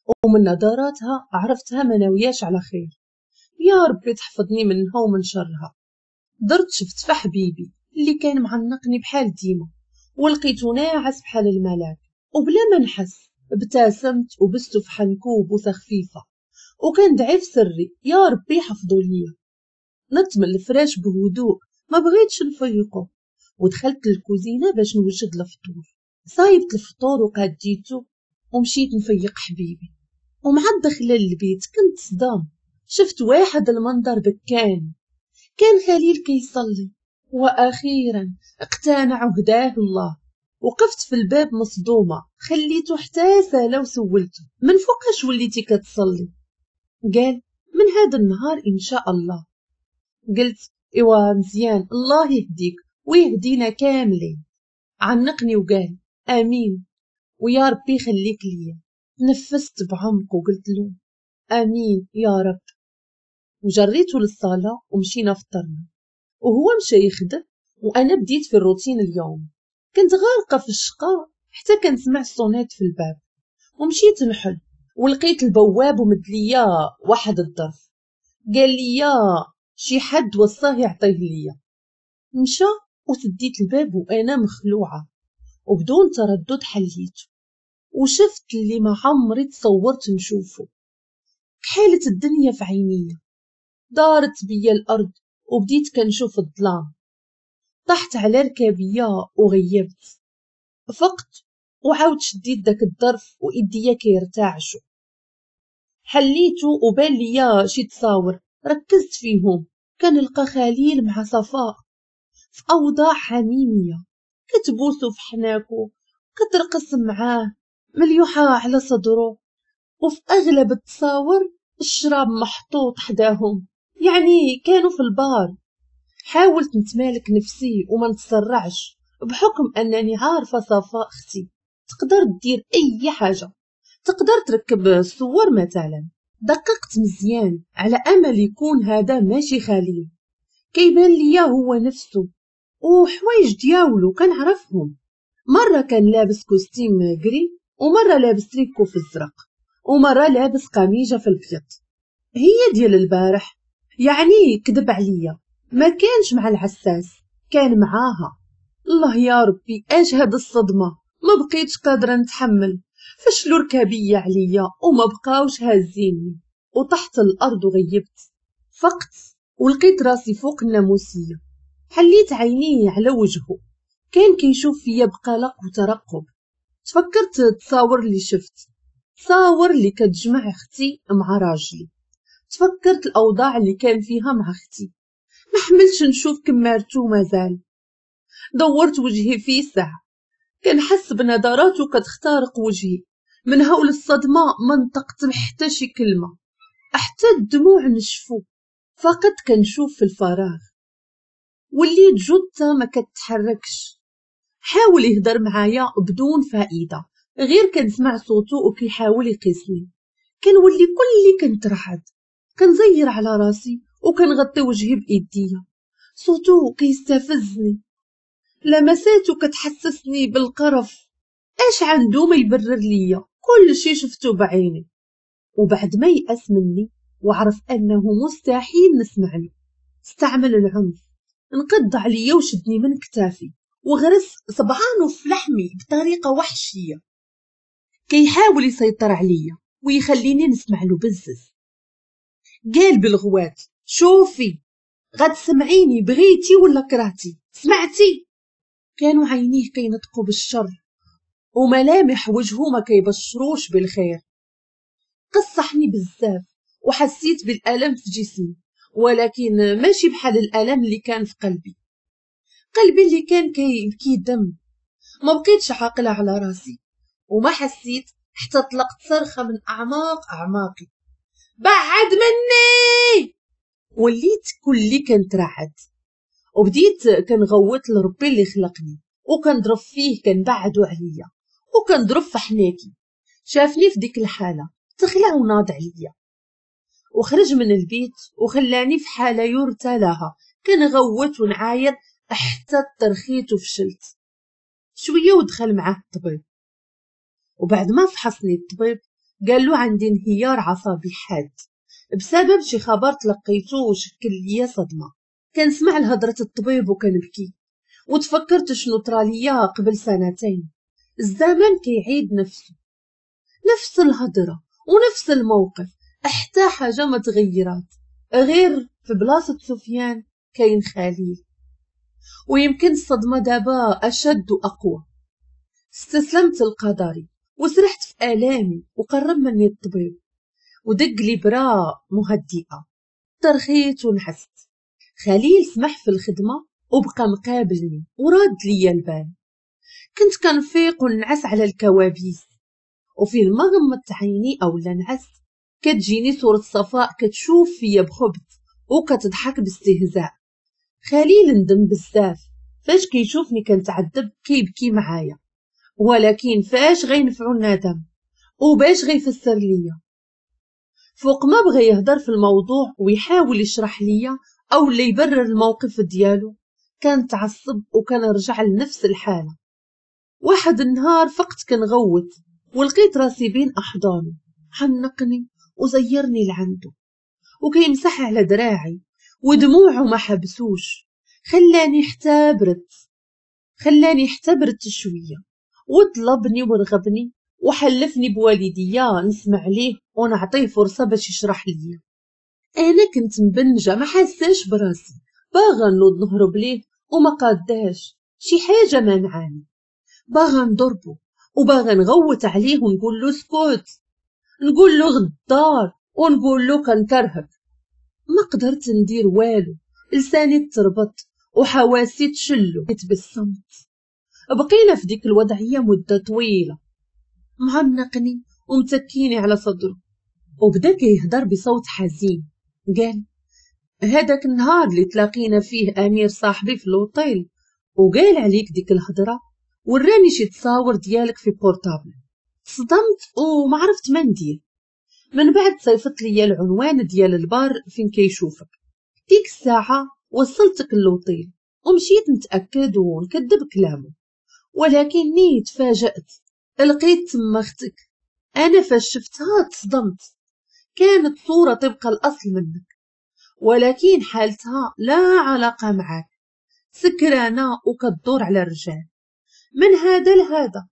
ومن نظراتها عرفتها ما ناوياش على خير. يا ربي تحفظني منها ومن شرها. درت شفت في حبيبي اللي كان معنقني بحال ديما، ولقيته ناعس بحال الملاك، وبلا ما نحس ابتسمت وبسته في حنكو بوسه خفيفة، وكندعي في سري يا ربي يحفظو ليا. نط من الفراش بهدوء، ما بغيتش نفيقو، ودخلت للكوزينه باش نوجد الفطور. صايبت الفطور وقاديته ومشيت نفيق حبيبي. ومع الدخلة للبيت كنت صدام، شفت واحد المنظر بكان، كان خليل كيصلي، واخيرا اقتنع وهداه الله. وقفت في الباب مصدومة، خليته حتى سالا وسولته من فوقاش وليتي كتصلي؟ قال من هذا النهار ان شاء الله. قلت ايوا مزيان، الله يهديك ويهدينا كاملين. عنقني وقال امين ويا ربي يخليك ليا. تنفست بعمق وقلت له امين يا رب، وجريته للصاله ومشينا فطرنا، وهو مشى يخدم وانا بديت في الروتين اليوم. كنت غارقة في الشقاء حتى كنسمع ال sonnette في الباب، ومشيت نحل ولقيت البواب ومد ليا واحد الظرف، قال لي شي حد وصاه يعطيه ليا. مشى وسديت الباب وانا مخلوعه، وبدون تردد حليته وشفت اللي ما عمري تصورت نشوفه. كحالة الدنيا في عينيا، دارت بيا الارض وبديت كنشوف الظلام. طحت على ركابيه وغيبت. فقت وعاود شديت داك الظرف وايديا كيرتعشوا. حليته وبان ليا شي تصاور، ركزت فيهم، كنلقى خليل مع صفاء في اوضاع حميمية، كتبوسو في حناكو، كترقص معاه، مليوحه على صدره، وفي اغلب التصاور الشراب محطوط حداهم، يعني كانوا في البار. حاولت نتمالك نفسي وما نتسرعش، بحكم انني عارفه صفاء اختي تقدر دير اي حاجة، تقدر تركب الصور مثلا. دققت مزيان على امل يكون هذا ماشي خليل، كيبان ليا هو نفسه وحوايج دياولو كنعرفهم. مرة كان لابس costume gris، ومرة لابس تريكو في الزرق، ومرة لابس قميجه في الابيض، هي ديال البارح. يعني كذب عليا، ما كانش مع العساس، كان معاها. الله يا ربي اش هاد الصدمة، ما بقيتش قادرة نتحمل. فشلوا ركابيه عليا وما بقاوش هازيني، وطحت الارض وغيبت. فقت ولقيت راسي فوق الناموسيه، حليت عيني على وجهه، كان كيشوف فيا بقلق وترقب. تفكرت التصاور اللي شفت، تصاور اللي كتجمع اختي مع راجلي، تفكرت الاوضاع اللي كان فيها مع اختي. ما حملتش نشوف كمارتو مازال. دورت وجهي في ساعة، كنحس بنظراته كتخترق وجهي. من هول الصدمة ما نطقت حتى شي كلمة، حتى الدموع نشفو، فقط كنشوف في الفراغ. وليت جثة ما كتحركش. حاول يهضر معايا بدون فائدة، غير كنسمع صوته وكيحاول يقيسني. كنولي كلي كنترعد، كنزير على راسي وكنغطي وجهي بايديا. صوته كيستفزني، لمساته كتحسسني بالقرف. اش عنده ما يبرر ليا؟ كل شي شفته بعيني. وبعد ما يأس مني وعرف انه مستحيل نسمع له، استعمل العنف، انقض عليا وشدني من كتافي وغرس صبعانه في لحمي بطريقة وحشية. كيحاول يسيطر عليا ويخليني نسمع له بزز. قال بالغوات شوفي غتسمعيني بغيتي ولا كرهتي، سمعتي؟ كانوا عينيه كينطقوا بالشر وملامح وجهه ما كيبشروش بالخير. قصحني بزاف وحسيت بالالم في جسمي، ولكن ماشي بحال الالم اللي كان في قلبي. قلبي اللي كان كيبكي دم. ما بقيتش عاقلة على راسي، وما حسيت حتى طلقت صرخة من اعماق اعماقي، بعد مني! وليت كلي كنترعد، وبديت كنغوت لربي اللي خلقني، وكنضرب فيه كنبعدو عليا، وكنضرب في حناكي. شافني في ديك الحالة تخلع وناض عليا وخرج من البيت وخلاني في حاله يرثى لها، كنغوت ونعاير حتى ترخيت وفشلت. شوية ودخل معاه الطبيب، وبعد ما فحصني الطبيب قال له عندي انهيار عصبي حاد بسبب شي خبر تلقيته وشكل ليا صدمة. كنسمع لهضرة الطبيب وكنبكي، وتفكرت شنو طرا ليا قبل سنتين. الزمن كيعيد نفسه، نفس الهضرة ونفس الموقف، حتى حاجة ما تغيرات، غير في بلاصة سفيان كاين خليل. ويمكن الصدمة دابا أشد وأقوى. استسلمت لقدري وسرحت في آلامي، وقرب مني الطبيب ودق لي برا مهدئة. ترخيت ونحست. خليل سمح في الخدمة وبقى مقابلني وراد ليا البال. كنت كنفيق ونعس على الكوابيس، وفين ما غمضت عيني او لا نعست كتجيني صورة صفاء كتشوف فيا بخبث وكتضحك باستهزاء. خليل ندم بزاف فاش كيشوفني كنتعذب كيبكي معايا، ولكن فاش غينفعو الندم وباش غيفسر ليا؟ فوق ما بغى يهضر في الموضوع ويحاول يشرح ليا او اللي يبرر الموقف ديالو كان تعصب وكان رجع لنفس الحالة. واحد النهار فقت كنغوت ولقيت راسي بين احضانه، حنقني وزيرني لعنده وكيمسح على دراعي ودموعه ما حبسوش. خلاني حتى برت شوية، وطلبني ورغبني وحلفني بوالديا نسمع ليه ونعطيه فرصة باش يشرح لي. انا كنت مبنجه ما حاساش براسي، باغا نوض نهرب ليه وما قاداش، شي حاجة مانعاني. باغا نضربه وباغا نغوت عليه ونقول له اسكت، نقول له غدار، ونقول له كنكرهك. ما قدرت ندير والو، لساني تربط وحواسي تشلو. تبسمت. بقينا في ديك الوضعية مده طويلة، معنقني ومتكيني على صدره، وبدا كيهضر بصوت حزين. قال هذاك النهار اللي تلاقينا فيه امير صاحبي في l'hôtel وقال عليك ديك الهضرة، وراني شي تصاور ديالك في portable. تصدمت وما عرفت ما ندير. من بعد صيفط ليا العنوان ديال البار فين كيشوفك. ديك الساعة وصلتك l'hôtel ومشيت نتاكد ونكذب كلامه، ولكني تفاجأت، لقيت تما اختك. انا فاش شفتها تصدمت، كانت صوره طبق الاصل منك، ولكن حالتها لا علاقة معك، سكرانه وكدور على الرجال من هذا لهذا.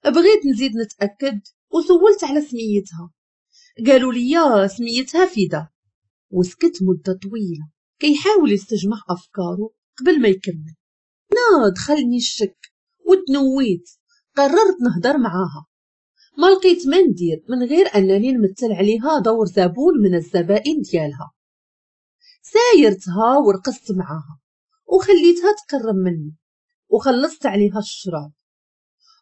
بغيت نزيد نتاكد وسولت على سميتها، قالوا لي سميتها فيدا. وسكت مده طويلة كيحاول يستجمع افكاره قبل ما يكمل. نا دخلني الشك وتنويت، قررت نهضر معاها. ما لقيت ما ندير من غير انني نمثل عليها دور زبون من الزبائن ديالها. سايرتها ورقصت معاها وخليتها تقرب مني وخلصت عليها الشراب.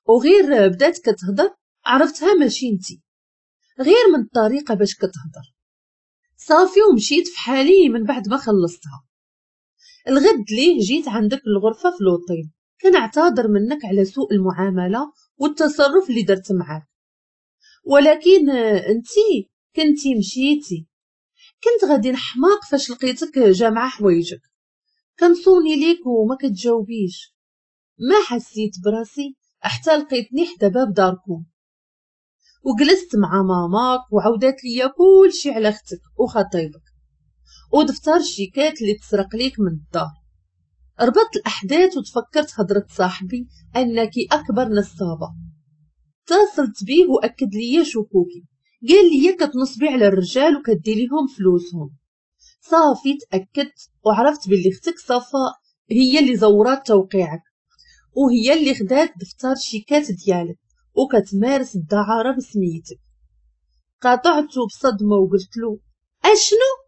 وغير بدات كتهضر عرفتها ماشي انتي، غير من الطريقة باش كتهضر. صافي ومشيت في حالي من بعد ما خلصتها. الغد ليه جيت عندك الغرفة في l'hôtel، كنعتذر منك على سوء المعاملة والتصرف اللي درت معاك، ولكن انتي كنتي مشيتي. كنت غادي نحماق فاش لقيتك جامعه حوايجك، كنصوني ليك وما كتجاوبيش. ما حسيت براسي حتى لقيتني حدا باب داركم، وجلست مع ماماك وعودات ليا كلشي على اختك وخطيبك ودفتر الشيكات اللي تسرق ليك من الدار. ربطت الاحداث وتفكرت هضره صاحبي انك اكبر نصابه. اتصلت بيه واكد ليا شكوكي، قال لي كتنصبي على الرجال وكدي ليهم فلوسهم. صافي تاكدت وعرفت باللي اختك صفاء هي اللي زورات توقيعك، وهي اللي خدات دفتر الشيكات ديالك وكتمارس الدعاره بسميتك. قاطعته بصدمة وقلت له اشنو؟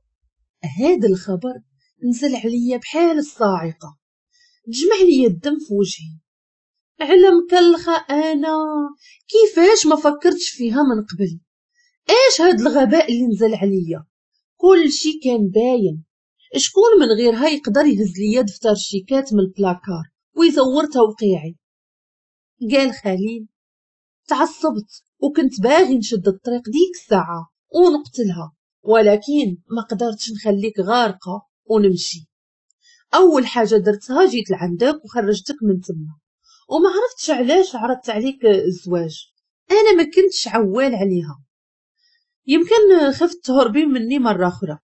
هذا الخبر نزل عليا بحال الصاعقة، تجمع لي الدم في وجهي. على مكلخه انا، كيفاش ما فكرتش فيها من قبل؟ ايش هاد الغباء اللي نزل عليا؟ كل شي كان باين، شكون من غيرها يقدر يهز ليا دفتر الشيكات من البلاكار ويزور توقيعي؟ قال خليل تعصبت وكنت باغي نشد الطريق ديك الساعة ونقتلها، ولكن ما قدرتش نخليك غارقة ونمشي. اول حاجة درتها جيت لعندك وخرجتك من تما، وما عرفتش علاش عرضت عليك الزواج. انا ما كنتش عوال عليها، يمكن خفت تهربي مني مرة أخرى.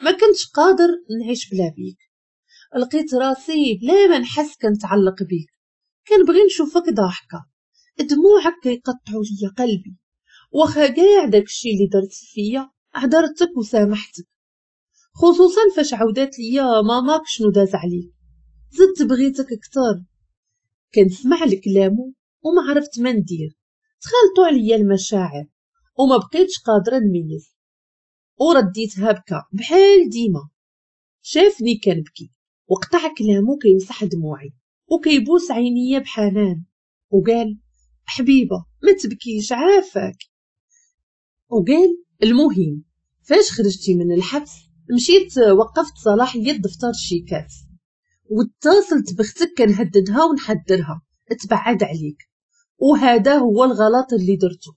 ما كنتش قادر نعيش بلا بيك، لقيت راسي بلا ما نحس كنتعلق بيك، كنبغي نشوفك ضاحكة، دموعك كيقطعوا ليا قلبي. واخا كاع داكشي اللي درت فيا عذرتك وسامحتك، خصوصا فاش عودات ليا ماماك شنو داز عليك، زدت بغيتك اكثر. كنسمع لكلامه وما عرفت ما ندير، تخلطوا عليا المشاعر وما بقيتش قادرة نميز، ورديتها بكا بحال ديما. شافني كنبكي وقطع كلامه كيمسح دموعي وكيبوس عينيا بحنان وقال حبيبه ما تبكيش عافاك. وقال المهم فاش خرجتي من الحبس مشيت وقفت صلاحية دفتر الشيكات واتصلت بختك كنهددها ونحذرها تبعد عليك، وهذا هو الغلط اللي درته.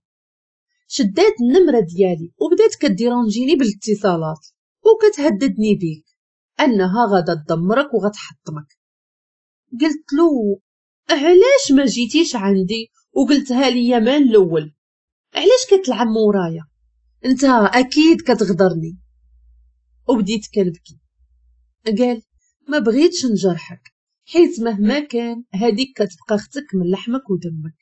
شدات النمرة ديالي وبدات كديرونجيني بالاتصالات وكتهددني بيك انها غادا تدمرك وغتحطمك. قلت له علاش ما جيتيش عندي وقلتها لي من الاول؟ علاش كتلعب مورايا؟ انت اكيد كتغدرني. وبديت كنبكي. قال ما بغيتش نجرحك، حيت مهما كان هذيك كتبقى اختك من لحمك ودمك.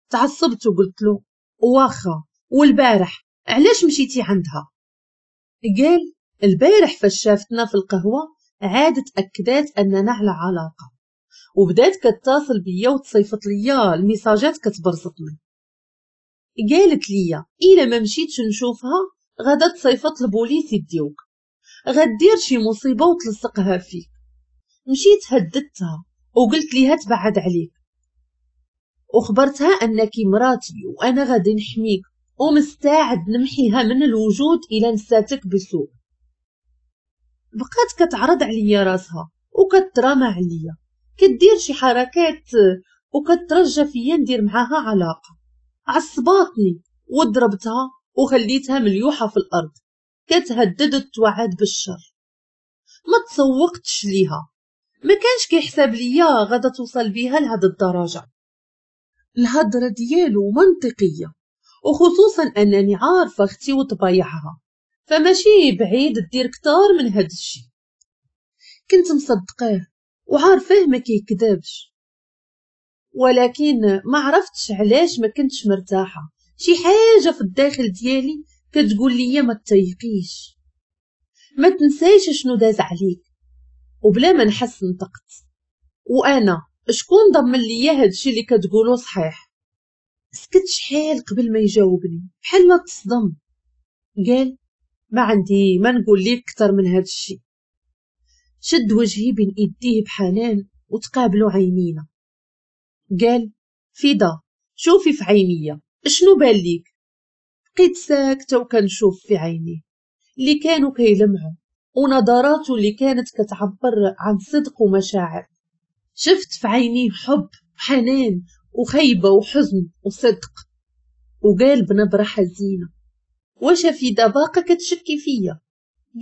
تعصبت وقلت له واخا، والبارح علاش مشيتي عندها؟ قال البارح فاش شافتنا في القهوة عادت أكدات أننا على علاقة، وبدات كتصل بيا وتصيفط ليا الميساجات كتبرزطني. قالت ليا إلا ما مشيتش نشوفها غادا تصيفط البوليس يديوك، غدير شي مصيبة وتلصقها فيك. مشيت هددتها وقلت ليها تبعد عليك، وخبرتها أنك مراتي وأنا غادي نحميك ومستعد نمحيها من الوجود إلى نساتك بسوء. بقات كتعرض عليا راسها وكترامى عليا، كدير شي حركات وكترجى فيا ندير معاها علاقة. عصباتني وضربتها وخليتها مليوحة في الأرض، كتهدد وتوعد بالشر. ما تسوقتش ليها، ما كانش كيحسب ليا غادا توصل بيها لهاد الدرجة. الهضرة ديالو منطقية، وخصوصا أنني عارفة اختي وطبايعها، فماشي بعيد دير كتار من هاد الشي. كنت مصدقاه وعارفاه ما كيكذبش، ولكن ما عرفتش علاش ما كنتش مرتاحة. شي حاجة في الداخل ديالي كتقول لي ما تتيقيش، ما تنسايش شنو داز عليك. وبلا ما نحس نطقت، وانا شكون ضمن ليا هادشي اللي كتقولو صحيح؟ سكت شحال قبل ما يجاوبني بحال ما تصدم. قال ما عندي ما نقول لك اكثر من هادشي. شد وجهي بين ايديه بحنان وتقابلوا عينينا. قال فدا شوفي في عينيا شنو بان ليك؟ بقيت ساكته وكنشوف في عينيه اللي كانوا كيلمعوا ونظراته اللي كانت كتعبر عن صدق ومشاعر. شفت في عينيه حب وحنان وخيبه وحزن وصدق. وقال بنبره حزينة واش فدا باقا كتشكي فيا؟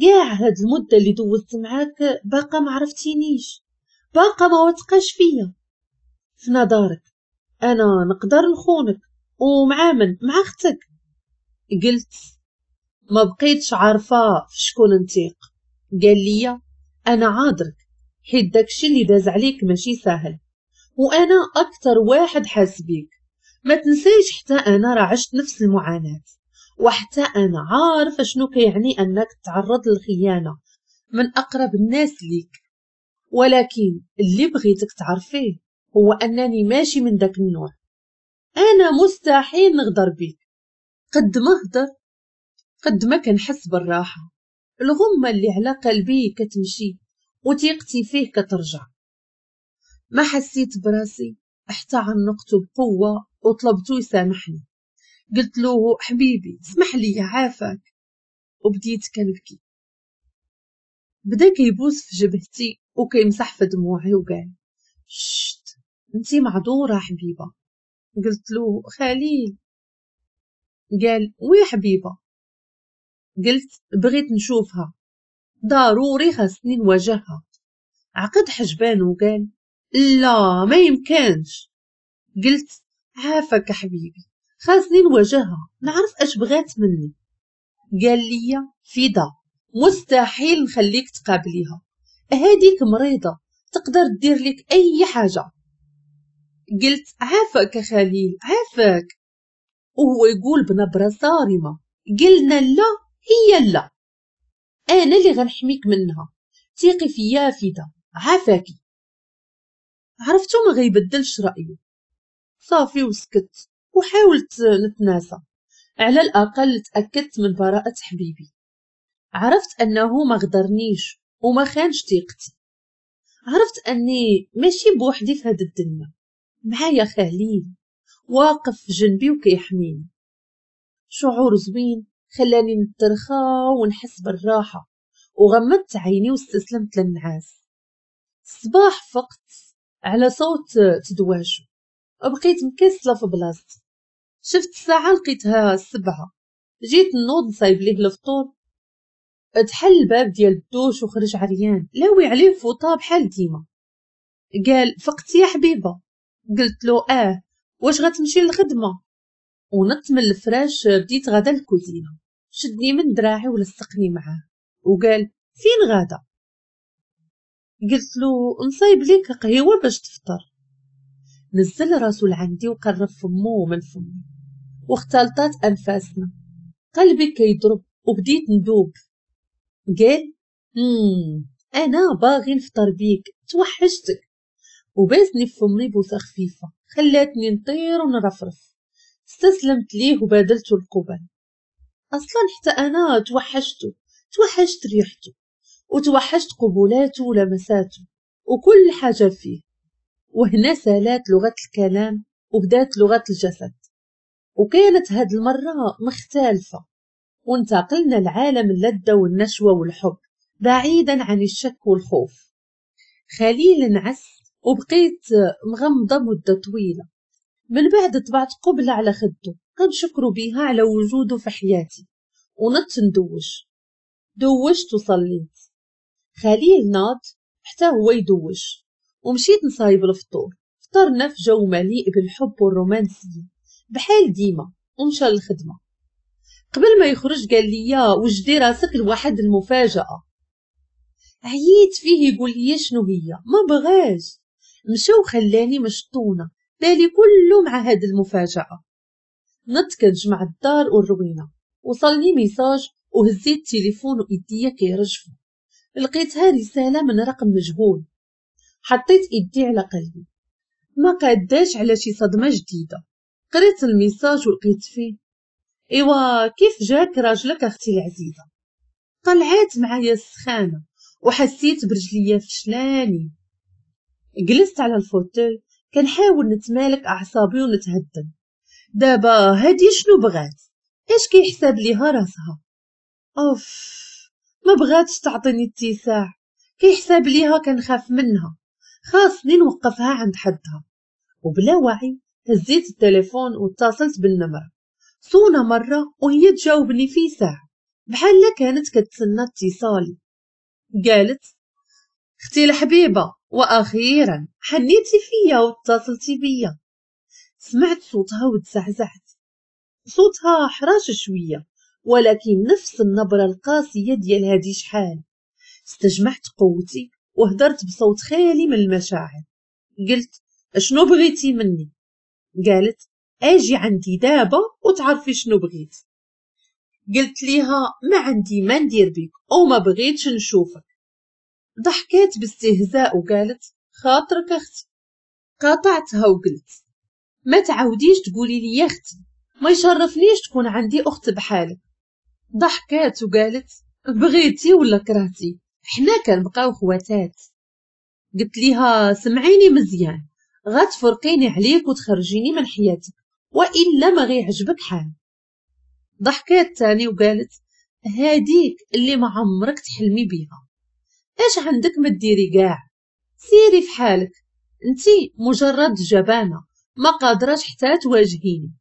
كاع هاد المدة اللي دوزت معاك باقا ما عرفتينيش، باقا ما وثقاش فيا. في نظرك انا نقدر نخونك ومع من؟ مع اختك. قلت ما بقيتش عارفه في شكون نتيق. قال لي انا عاذرك حيت داكشي اللي داز عليك ماشي ساهل، وانا اكثر واحد حاس بيك. ما تنسيش حتى انا راه عشت نفس المعاناة، وحتى انا عارفه شنو كيعني انك تعرض للخيانه من اقرب الناس ليك. ولكن اللي بغيتك تعرفيه هو انني ماشي من داك النوع، انا مستحيل نغدر بيك. قد ما هدر قد ما كنحس بالراحة، الغمة اللي على قلبي كتمشي وثيقتي فيه كترجع. ما حسيت براسي حتى عنقته بقوة وطلبته يسامحني. قلت له حبيبي اسمح لي عافاك، وبديت كنبكي. بدا كيبوس في جبهتي وكيمسح في دموعي وقال شت انتي معذوره حبيبه. قلت له خليل. قال oui حبيبه. قلت بغيت نشوفها ضروري، خاصني نواجهها. عقد حجبانه وقال لا ما يمكنش. قلت عافاك حبيبي خاصني نواجهها، نعرف اش بغات مني. قال لي فدا مستحيل نخليك تقابليها، هذيك مريضه تقدر دير لك اي حاجة. قلت عافاك خليل عافاك. وهو يقول بنبره صارمة قلنا لا هي لا، انا اللي غنحميك منها، ثقي فيا فدا عافاكي. عرفتو ما غيبدلش رايه، صافي وسكت وحاولت نتناسى، على الاقل تاكدت من براءه حبيبي، عرفت انه ما غدرنيش وما خانش ثقتي، عرفت اني ماشي بوحدي في هاد الدنيا، معايا خليل واقف في جنبي وكيحميني. شعور زوين خلاني نترخى ونحس بالراحة، وغمضت عيني واستسلمت للنعاس. الصباح فقت على صوت تدواشو، بقيت مكسله في بلاصتي. شفت الساعة لقيتها 7، جيت نوض نصايب ليه الفطور. تحل الباب ديال الدوش وخرج عريان لاوي عليه فوطه بحال ديما. قال فقتي يا حبيبه؟ قلت له اه، واش غتمشي للخدمة؟ ونط من الفراش بديت غدا للكوزينه. شدني من دراعي ولصقني معاه وقال فين غادا؟ قلت له نصايب ليك قهوة باش تفطر. نزل راسو لعندي وقرب فمو من فمي واختلطات انفاسنا، قلبي كيضرب وبديت ندوب. قال انا باغي نفطر بيك، توحشتك. وباسني في فمي بوسه خفيفة خلاتني نطير ونرفرف. استسلمت ليه وبادلته القبل. اصلا حتى انا توحشته، توحشت ريحته وتوحشت قبولاته ولمساته وكل حاجة فيه. وهنا سالات لغة الكلام وبدات لغة الجسد، وكانت هاد المرة مختلفة، وانتقلنا لعالم اللذة والنشوة والحب بعيدا عن الشك والخوف. خليل نعس وبقيت مغمضه مده طويلة. من بعد طبعت قبلة على خده كنشكرو بيها على وجوده في حياتي، ونط ندوش. دوشت وصليت. خليل ناض حتى هو يدوش، ومشيت نصايب الفطور. فطرنا في جو مليء بالحب والرومانسية بحال ديما، ومشى للخدمة. قبل ما يخرج قال لي وجدي راسك لواحد المفاجأة. عييت فيه يقول لي شنو هي، ما بغاش. مشى وخلاني مشطونه، بالي كله مع هاد المفاجأة. نط كنجمع الدار والروينة. وصلني message وهزيت التليفون وايديا كيرجفوا. لقيتها رسالة من رقم مجهول. حطيت ايدي على قلبي، ما قاداش على شي صدمة جديدة. قريت ال message ولقيت فيه ايوا كيف جاك راجلك اختي العزيزة. طلعت معايا السخانة وحسيت برجليا فشلاني. جلست على ال fauteuil كنحاول نتمالك اعصابي ونتهدم. دابا هادي شنو بغات؟ اش كيحسب ليها راسها؟ اوف ما بغاتش تعطيني اتساع، كيحسب ليها كنخاف منها، خاصني نوقفها عند حدها. وبلا وعي هزيت التليفون واتصلت بالنمرة. صونا مرة وهي تجاوبني في ساعة بحال كانت كتسنى اتصالي. قالت اختي الحبيبة واخيرا حنيتي فيا واتصلتي بيا. سمعت صوتها وتزعزعت. صوتها حراش شوية ولكن نفس النبرة القاسية ديال هادي شحال. استجمعت قوتي وهدرت بصوت خالي من المشاعر. قلت شنو بغيتي مني؟ قالت اجي عندي دابا وتعرفي شنو بغيت. قلت ليها ما عندي ما ندير بك او ما بغيتش نشوفك. ضحكات باستهزاء وقالت خاطرك اختي. قاطعتها وقلت ما تعاوديش تقولي لي يا اختي، ما يشرفنيش تكون عندي اخت بحالك. ضحكات وقالت بغيتي ولا كرهتي حنا كنبقاو خواتات. قلت ليها سمعيني مزيان، غتفرقيني عليك وتخرجيني من حياتك والا ما غيعجبك حال. ضحكات تاني وقالت هاديك اللي ما عمرك تحلمي بيها، اش عندك ما ديري كاع، سيري في حالك، انتي مجرد جبانه ما قادراش حتى تواجهيني.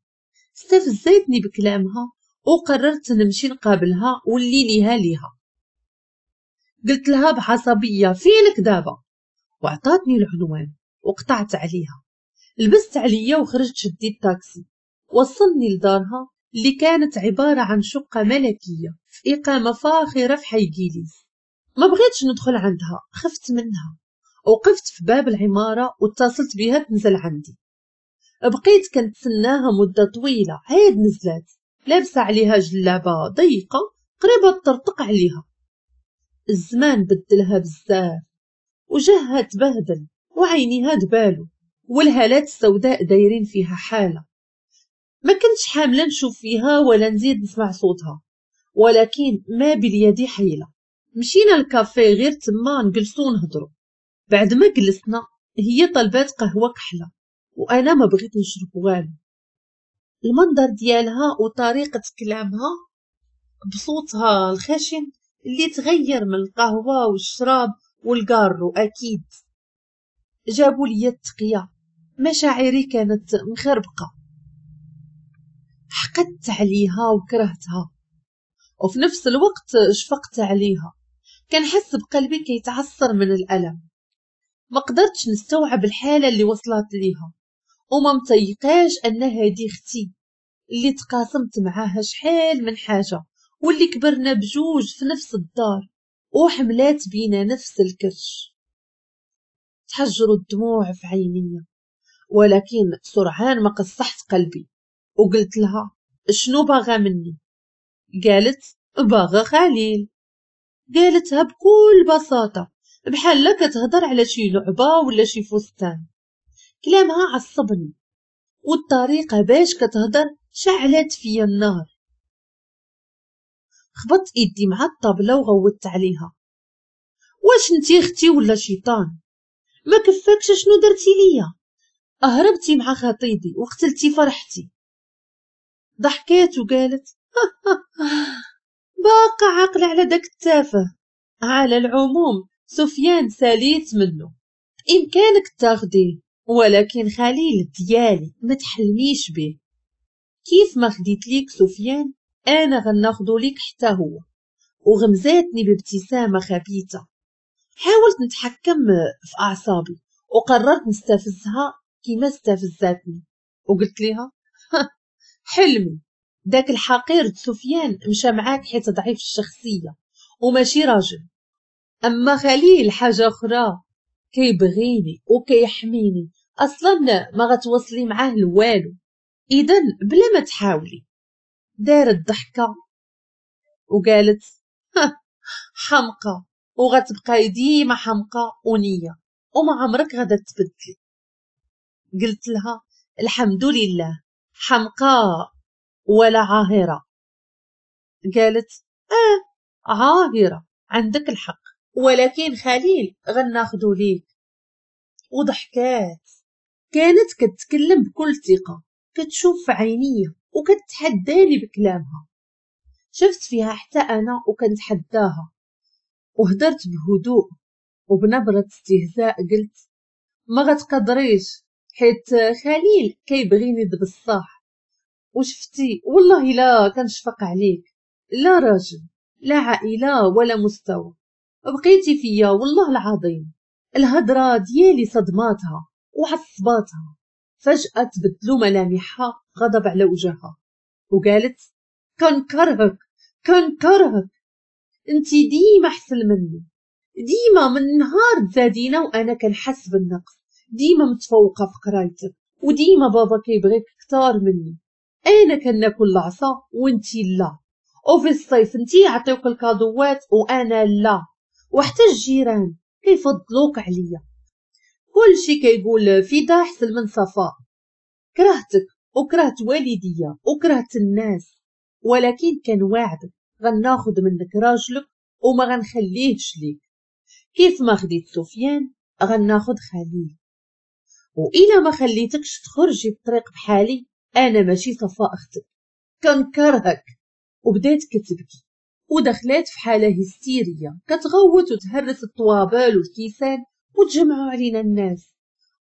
استفزيتني بكلامها وقررت نمشي نقابلها واللي ليها ليها. قلت لها بعصبيه فينك دابا، وعطاتني العنوان وقطعت عليها. لبست عليا وخرجت شديت تاكسي. وصلني لدارها اللي كانت عبارة عن شقة ملكية في إقامة فاخرة في حي جيليز. ما بغيتش ندخل عندها، خفت منها. وقفت في باب العمارة واتصلت بها تنزل عندي. بقيت كنتسناها مدة طويلة، عاد نزلات لابسة عليها جلابة ضيقة قريبة تطرطق عليها. الزمان بدلها بزاف، وجهها تبهدل وعينيها دبالو والهالات السوداء دايرين فيها حالة. ما كنتش حاملة نشوف فيها ولا نزيد نسمع صوتها، ولكن ما باليد حيلة. مشينا الكافيه غير تما نجلسو ونهضرو. بعد ما جلسنا هي طلبات قهوة كحلة وأنا ما بغيت نشرب والو. المنظر ديالها وطريقة كلامها بصوتها الخشن اللي تغير من القهوة والشراب والقارو أكيد جابوا لي التقية. مشاعري كانت مخربقة، حقدت عليها وكرهتها، وفي نفس الوقت شفقت عليها. كنحس بقلبي كيتعصر من الألم. ما قدرتش نستوعب الحالة اللي وصلت ليها، وما متيقاش أن هذه اختي اللي تقاسمت معاها شحال من حاجة، واللي كبرنا بجوج في نفس الدار وحملات بينا نفس الكرش. تحجروا الدموع في عيني، ولكن سرعان ما قصحت قلبي وقلت لها شنو باغا مني؟ قالت باغا خليل. قالتها بكل بساطة بحال لا كتهضر على شي لعبة ولا شي فستان. كلامها عصبني، والطريقة باش كتهضر شعلت فيا النار. خبطت ايدي مع الطابلة وغوتت عليها، واش انتي اختي ولا شيطان؟ ما كفاكش شنو درتي ليا؟ اهربتي مع خطيبي وقتلتي فرحتي. ضحكات وقالت باقا عاقلة على داك التافه. على العموم سفيان ساليت منه، بإمكانك تاخديه، ولكن خليل ديالي ما تحلميش به. كيف ما خديت ليك سفيان انا غناخدو ليك حتى هو. وغمزاتني بابتسامة خبيثة. حاولت نتحكم في اعصابي وقررت نستفزها كيما استفزاتني، وقلت لها حلمي داك الحقير سفيان مشى معاك حيت ضعيف الشخصية وماشي راجل، اما خليل حاجة اخرى، كيبغيني وكيحميني، اصلا ما غتوصلي معاه لوالو، اذا بلا ما تحاولي. دارت ضحكه وقالت حمقى، وغتبقاي ديما حمقى ونيه وما عمرك غادا تبدلي. قلت لها الحمد لله حمقى ولا عاهره. قالت عاهره عندك الحق، ولكن خليل غناخدو ليك. وضحكات. كانت كتكلم بكل ثقة، كتشوف في عينيا وكتحداني بكلامها. شفت فيها حتى انا وكنتحداها، وهدرت بهدوء وبنبره استهزاء قلت ما غتقدريش حيت خليل كيبغيني بصح، وشفتي والله لا كنشفق عليك، لا راجل لا عائلة ولا مستوى، بقيتي فيا والله العظيم. الهضرة ديالي صدماتها وعصباتها. فجأة تبدلوا ملامحها غضب على وجهها وقالت كنكرهك كنكرهك، انتي ديما احسن مني، ديما من نهار تزادينا وانا كنحس بالنقص، ديما متفوقه في قرايتك، وديما بابا كيبغيك كتار مني، انا كناكل العصا وانتي لا، وفي الصيف انتي يعطيوك الكادوات وانا لا، وحتى الجيران كيفضلوك عليا، كلشي كيقول فدا احسن من صفاء. كرهتك وكرهت والديا وكرهت الناس، ولكن كنواعدك غناخد منك راجلك وما غنخليهش ليك، كيف ما خديت سفيان غناخد خليل، وإلا ما خليتكش تخرجي الطريق بحالي انا ماشي صفاء اختك، كنكرهك. وبدات كتبكي ودخلات في حاله هستيريه كتغوت وتهرس الطوابل والكيسان وتجمعوا علينا الناس،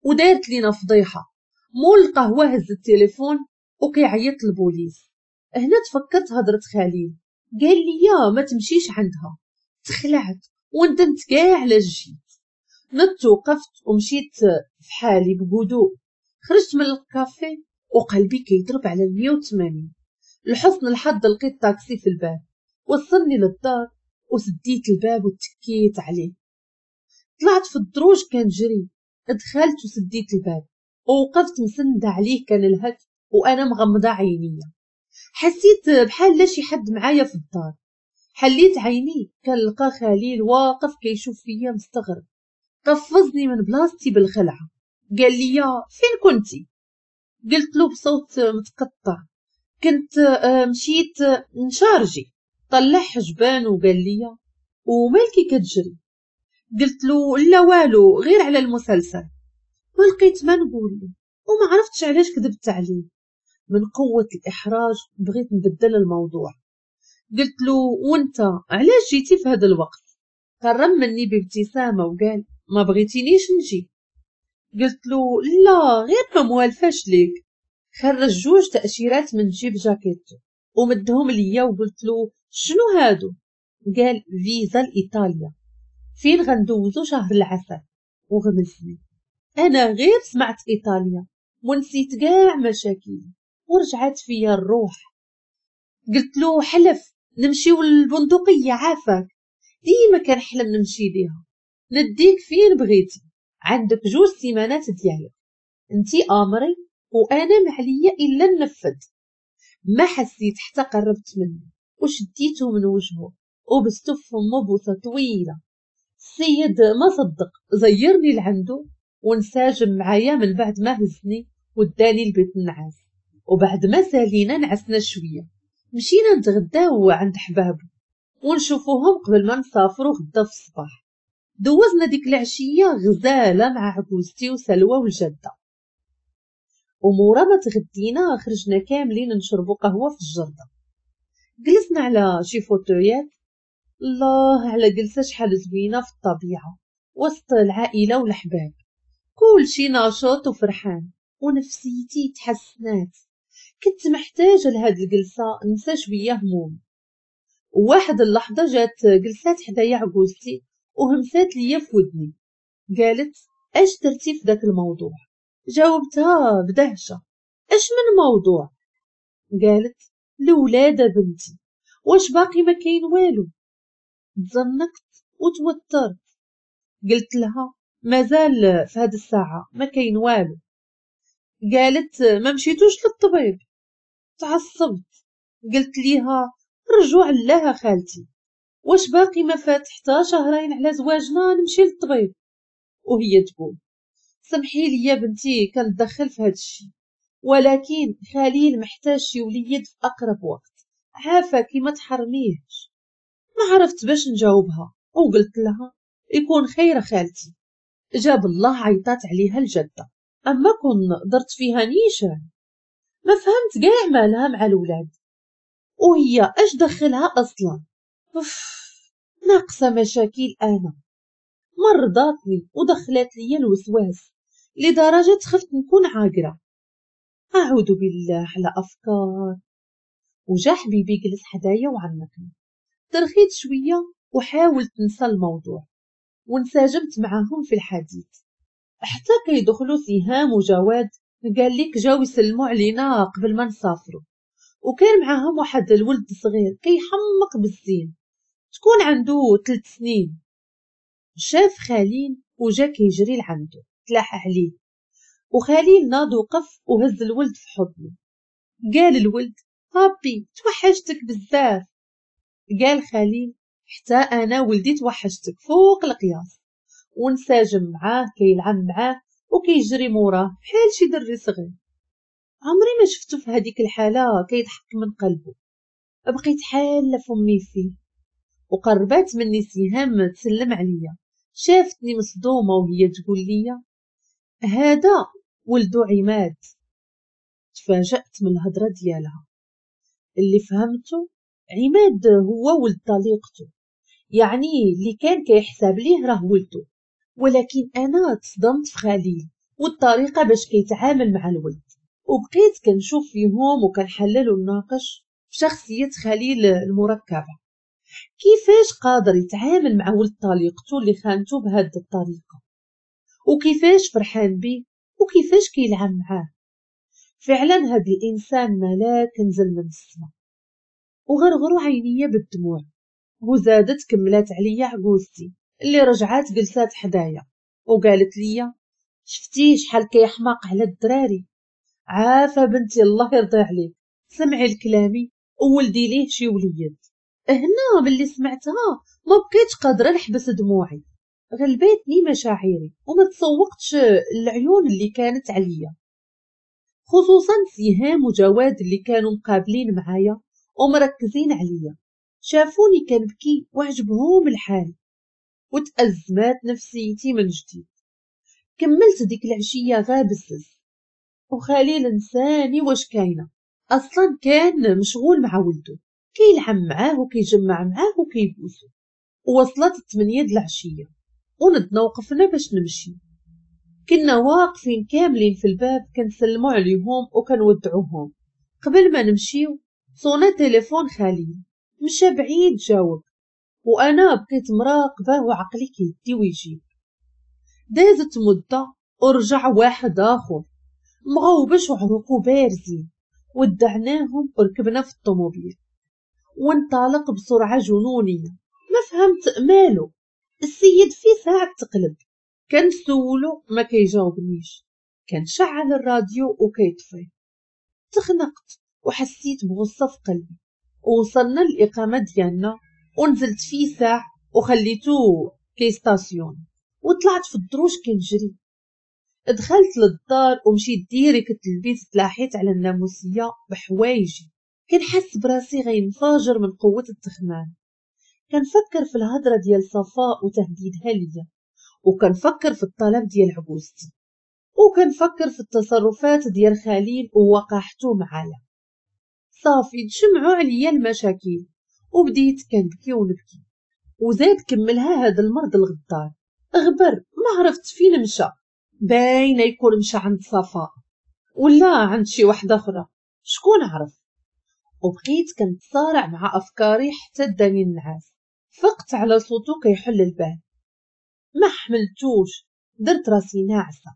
ودارت لينا فضيحة. مول القهوة هز التليفون وكيعيط للبوليس. هنا تفكرت هضره خليل، قال لي يا ما تمشيش عندها. تخلعت وندمت كاع على جيت. نضت وقفت ومشيت في حالي بهدوء. خرجت من الكافيه وقلبي كيضرب على 180. لحسن الحظ لقيت طاكسي في الباب، وصلني للدار وسديت الباب وتكيت عليه. طلعت في الدروج كنجري، دخلت وسديت الباب ووقفت مسندة عليه كنلهث وانا مغمضة عينيا. حسيت بحال لا شي حد معايا في الدار. حليت عيني كنلقى خليل واقف كيشوف فيا مستغرب. قفزني من بلاصتي بالخلعه، قال لي فين كنتي؟ قلت له بصوت متقطع كنت مشيت نشارجي. طلع حجبان وقال لي ومالكي كتجري؟ قلت له لا والو، غير على المسلسل. ما لقيت ما نقول له وما عرفتش علاش كذبت عليه. من قوة الإحراج بغيت نبدل الموضوع. قلت له وانت علاش جيتي في هذا الوقت؟ قرب مني بابتسامة وقال ما بغيتينيش نجي؟ قلت له لا، غير ما موالفاش ليك. خرج جوج تأشيرات من جيب جاكيتو ومدهم ليا وقلت له شنو هادو؟ قال فيزا لإيطاليا، فين غندوزو شهر العسل. وغمزني. انا غير سمعت ايطاليا ونسيت كاع مشاكلي ورجعت فيا الروح. قلت له حلف نمشيو للبندقية عافاك، ديما كنحلم نمشي ليها، نديك فين بغيتي، عندك 2 سيمانات ديالك، انتي امري وانا ما عليا الا ننفذ. ما حسيت حتى قربت منه وشديته من وجهه وبستو في فمه بوسه طويلة. السيد ما صدق، زيرني لعنده وانسجم معايا من بعد ما هزني وداني لبيت النعاس. وبعد ما سالينا نعسنا شوية، مشينا نتغداو عند حبابو ونشوفوهم قبل ما نسافروا غدا في الصباح. دوزنا ديك العشية غزاله مع عجوزتي وسلوى والجدة. ومورا ما تغدينا خرجنا كاملين نشربوا قهوة في الجرده. جلسنا على شي فوتويات، الله على جلسه شحال زوينة في الطبيعة وسط العائلة والحباب، كلشي ناشط وفرحان ونفسيتي تحسنات. كنت محتاجه لهاد الجلسة ننسى شوية هموم. وواحد اللحظة جات جلسات حدايا عجوزتي وهمسات ليا في ودني، قالت اش درتي في داك الموضوع؟ جاوبتها بدهشه اش من موضوع؟ قالت الولادة بنتي، واش باقي ما كاين والو؟ تزنقت وتوترت. قلت لها مازال في هاد الساعة ما كاين والو. قالت ما مشيتوش للطبيب؟ تعصبت. قلت ليها رجوع لها خالتي، واش باقي ما فات حتى شهرين على زواجنا نمشي للطبيب؟ وهي تقول سمحي لي يا بنتي كندخل في هاد الشيء، ولكن خليل محتاج شي وليد في اقرب وقت، عافاكي ما تحرميهش. ما عرفت باش نجاوبها وقلت لها يكون خير خالتي. جاب الله عيطات عليها الجدة، اما كون درت فيها نيشان. ما فهمت كاع مالها مع الولاد وهي اش دخلها اصلا. اوف ناقصه مشاكل انا، مرضاتني ودخلت لي الوسواس لدرجة خفت نكون عاقرة. اعوذ بالله على افكار. وجا حبيبي جلس حدايا وعنقني، ترخيت شوية وحاولت ننسى الموضوع وانسجمت معاهم في الحديث. حتى كيدخلوا سهام وجواد، قال لك جاو يسلموا علينا قبل ما نسافروا، وكان معاهم واحد الولد صغير كيحمق بالزين، تكون عنده 3 سنين. شاف خليل وجا كيجري لعنده، تلاح عليه، وخليل ناض وقف وهز الولد في حضنه. قال الولد بابي توحشتك بزاف. قال خليل حتى انا ولدي توحشتك فوق القياس. وانسجم معاه كيلعب معاه وكيجري موراه بحال شي دري صغير. عمري ما شفتو في هذيك الحالة كيضحك من قلبه. بقيت حاله فمي فيه. وقربات مني سهام تسلم عليا، شافتني مصدومة وهي تقول لي هذا ولدو عماد. تفاجأت من الهضرة ديالها. اللي فهمته عماد هو ولد طليقته، يعني اللي كان كيحسب ليه راه ولده، ولكن انا تصدمت في خليل والطريقة باش كيتعامل مع الولد. وبقيت كنشوف فيهم وكنحلل ونناقش في شخصية خليل المركبة، كيفاش قادر يتعامل مع ولد طليقته اللي خانته بهذه الطريقة، وكيفاش فرحان بيه، وكيفاش كيلعب معاه. فعلا هاد الانسان ملاك نزل من السما. وغرغروا عينيا بالدموع، وزادت كملات عليا عجوزتي اللي رجعات جلسات حدايا وقالت لي شفتي شحال كيحماق على الدراري، عافا بنتي الله يرضي عليك، سمعي الكلامي وولدي ليه شي وليد. هنا باللي سمعتها ما بقيتش قادرة نحبس دموعي، غلبتني مشاعري وما تسوقتش العيون اللي كانت عليا، خصوصا سهام وجواد اللي كانوا مقابلين معايا ومركزين عليا. شافوني كنبكي وعجبهم الحال، وتأزمات نفسيتي من جديد. كملت ديك العشية غابسس، وخليل نساني واش كاينه، اصلا كان مشغول مع ولده، كيلعب معاه وكيجمع معاه وكيبوسو. ووصلت 8 د العشية وندنا وقفنا باش نمشي. كنا واقفين كاملين في الباب كنسلموا عليهم وكنودعوهم. قبل ما نمشيو صونا تليفون خليل، مشى بعيد جاوب، وانا بقيت مراقبة وعقلي كيدي ويجيب. دازت مده ورجع واحد اخر مغوبش وعروقو بارزين، ودعناهم وركبنا في الطوموبيل وانطلق بسرعة جنونيه. ما فهمت مالو السيد، في ساعة تقلب. كنسولو ما كيجاوبنيش، كنشعل الراديو وكيطفي. تخنقت وحسيت بغصه في قلبي. ووصلنا للاقامة ديالنا ونزلت في ساعة وخليتو كيستاسيون، وطلعت في الدروج كنجري. دخلت للدار ومشيت direct للبيت، تلاحيت على الناموسيه بحوايجي. كنحس براسي غينفجر من قوة التخمام. كنفكر في الهضرة ديال صفاء وتهديدها ليا، وكنفكر في الطلب ديال عجوزتي، وكنفكر في التصرفات ديال خليل ووقاحته معايا. صافي تجمعوا عليا المشاكل وبديت كنبكي ونبكي. وزاد كملها هذا المرض الغدار، غبر ما عرفت فين مشى. باينة يكون مشى عند صفاء ولا عند شي واحدة اخرى، شكون عرف. وبقيت كنتصارع مع افكاري حتى داني النعاس. فقت على صوتو كيحل الباب، ما حملتوش، درت راسي ناعسه.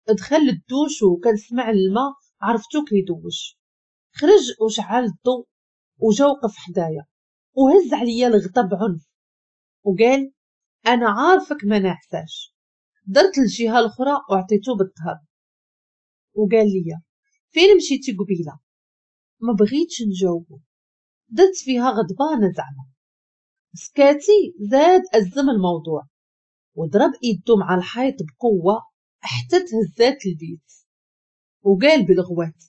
دخل الدوش وكنسمع الماء، عرفتو كيدوش. خرج وشعل الضوء وجا وقف حدايا وهز عليا الغطا بعنف وقال انا عارفك ما ناعساش. درت الجهة الاخرى وعطيتو بالظهر وقال لي فين مشيتي قبيلة؟ ما بغيتش نجاوبو، درت فيها غضبانه زعما. سكاتي زاد ازم الموضوع وضرب ايدو مع الحيط بقوة حتى تهزات البيت وقال بالغوات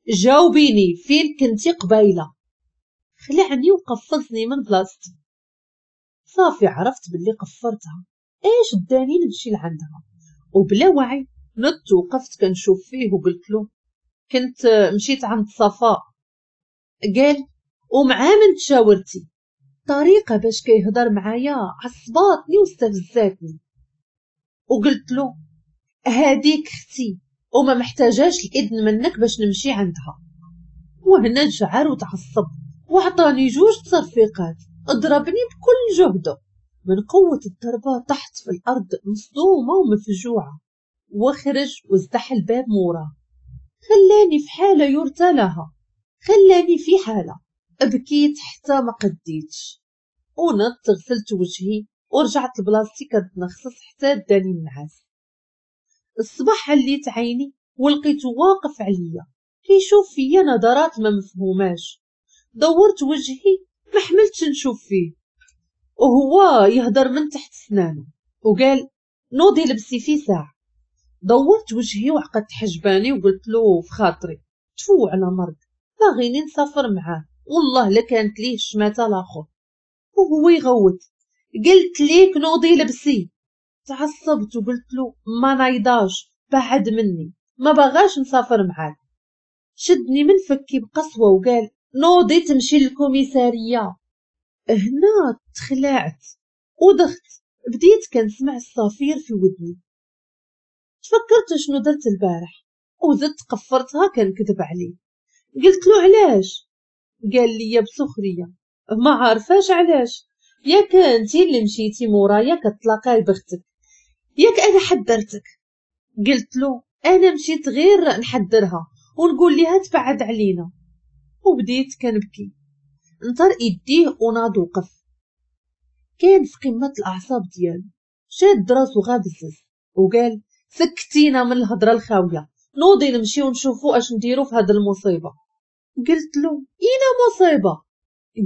جاوبيني فين كنتي قبيلة. خلعني وقفزني من بلاصتي. صافي عرفت باللي قفرتها، ايش داني نمشي لعندها. وبلا وعي نط وقفت كنشوف فيه وقلت له كنت مشيت عند صفاء. قال ومع من تشاورتي؟ طريقه باش كيهضر معايا عصباتني واستفزاتني. وقلت له هاديك اختي وما محتاجاش الاذن منك باش نمشي عندها. وهنا انشعر وتعصب وعطاني جوج تصرفيقات، ضربني بكل جهده. من قوة الضربة طحت في الأرض مصدومة ومفجوعة، وخرج وازدح الباب موراه. خلاني في حالة يرثى لها، خلاني في حالة بكيت حتى ما قديتش. ونط غسلت وجهي ورجعت لبلاصتي كنتنخصص حتى داني النعاس. الصباح عليت عيني ولقيته واقف عليا كيشوف فيا نظرات ما مفهوماش. دورت وجهي ما حملتش نشوف فيه، وهو يهدر من تحت سنانه وقال نوضي لبسي في ساعة. دورت وجهي وعقدت حجباني وقلت له في خاطري تفو على مرض، باغيني نسافر معاه والله لا كانت ليه الشماتة الاخر. وهو يغوت قلت ليك نوضي لبسي. تعصبت وقلت له ما نايضاش، بعد مني، ما باغاش نسافر معاك. شدني من فكي بقسوة وقال نوضي تمشي للكوميسارية. هنا تخلعت ودخت، بديت كنسمع الصفير في ودني. تفكرت شنو درت البارح وزدت قفرتها كنكذب عليه. قلت له علاش؟ قال لي بسخريه ما عارفاش علاش، ياك انتي اللي مشيتي مورايا كتلاقاي بختك، ياك انا حذرتك. قلت له انا مشيت غير نحذرها ونقول ليها تبعد علينا. وبديت كنبكي. نطر ايديه وناض وقف. كان في قمة الاعصاب ديالو، شاد راسو غابزز وقال سكتينا من الهضرة الخاويه، نوضي نمشيو ونشوفو اش نديرو في هاد المصيبة. قلت له اينا مصيبة؟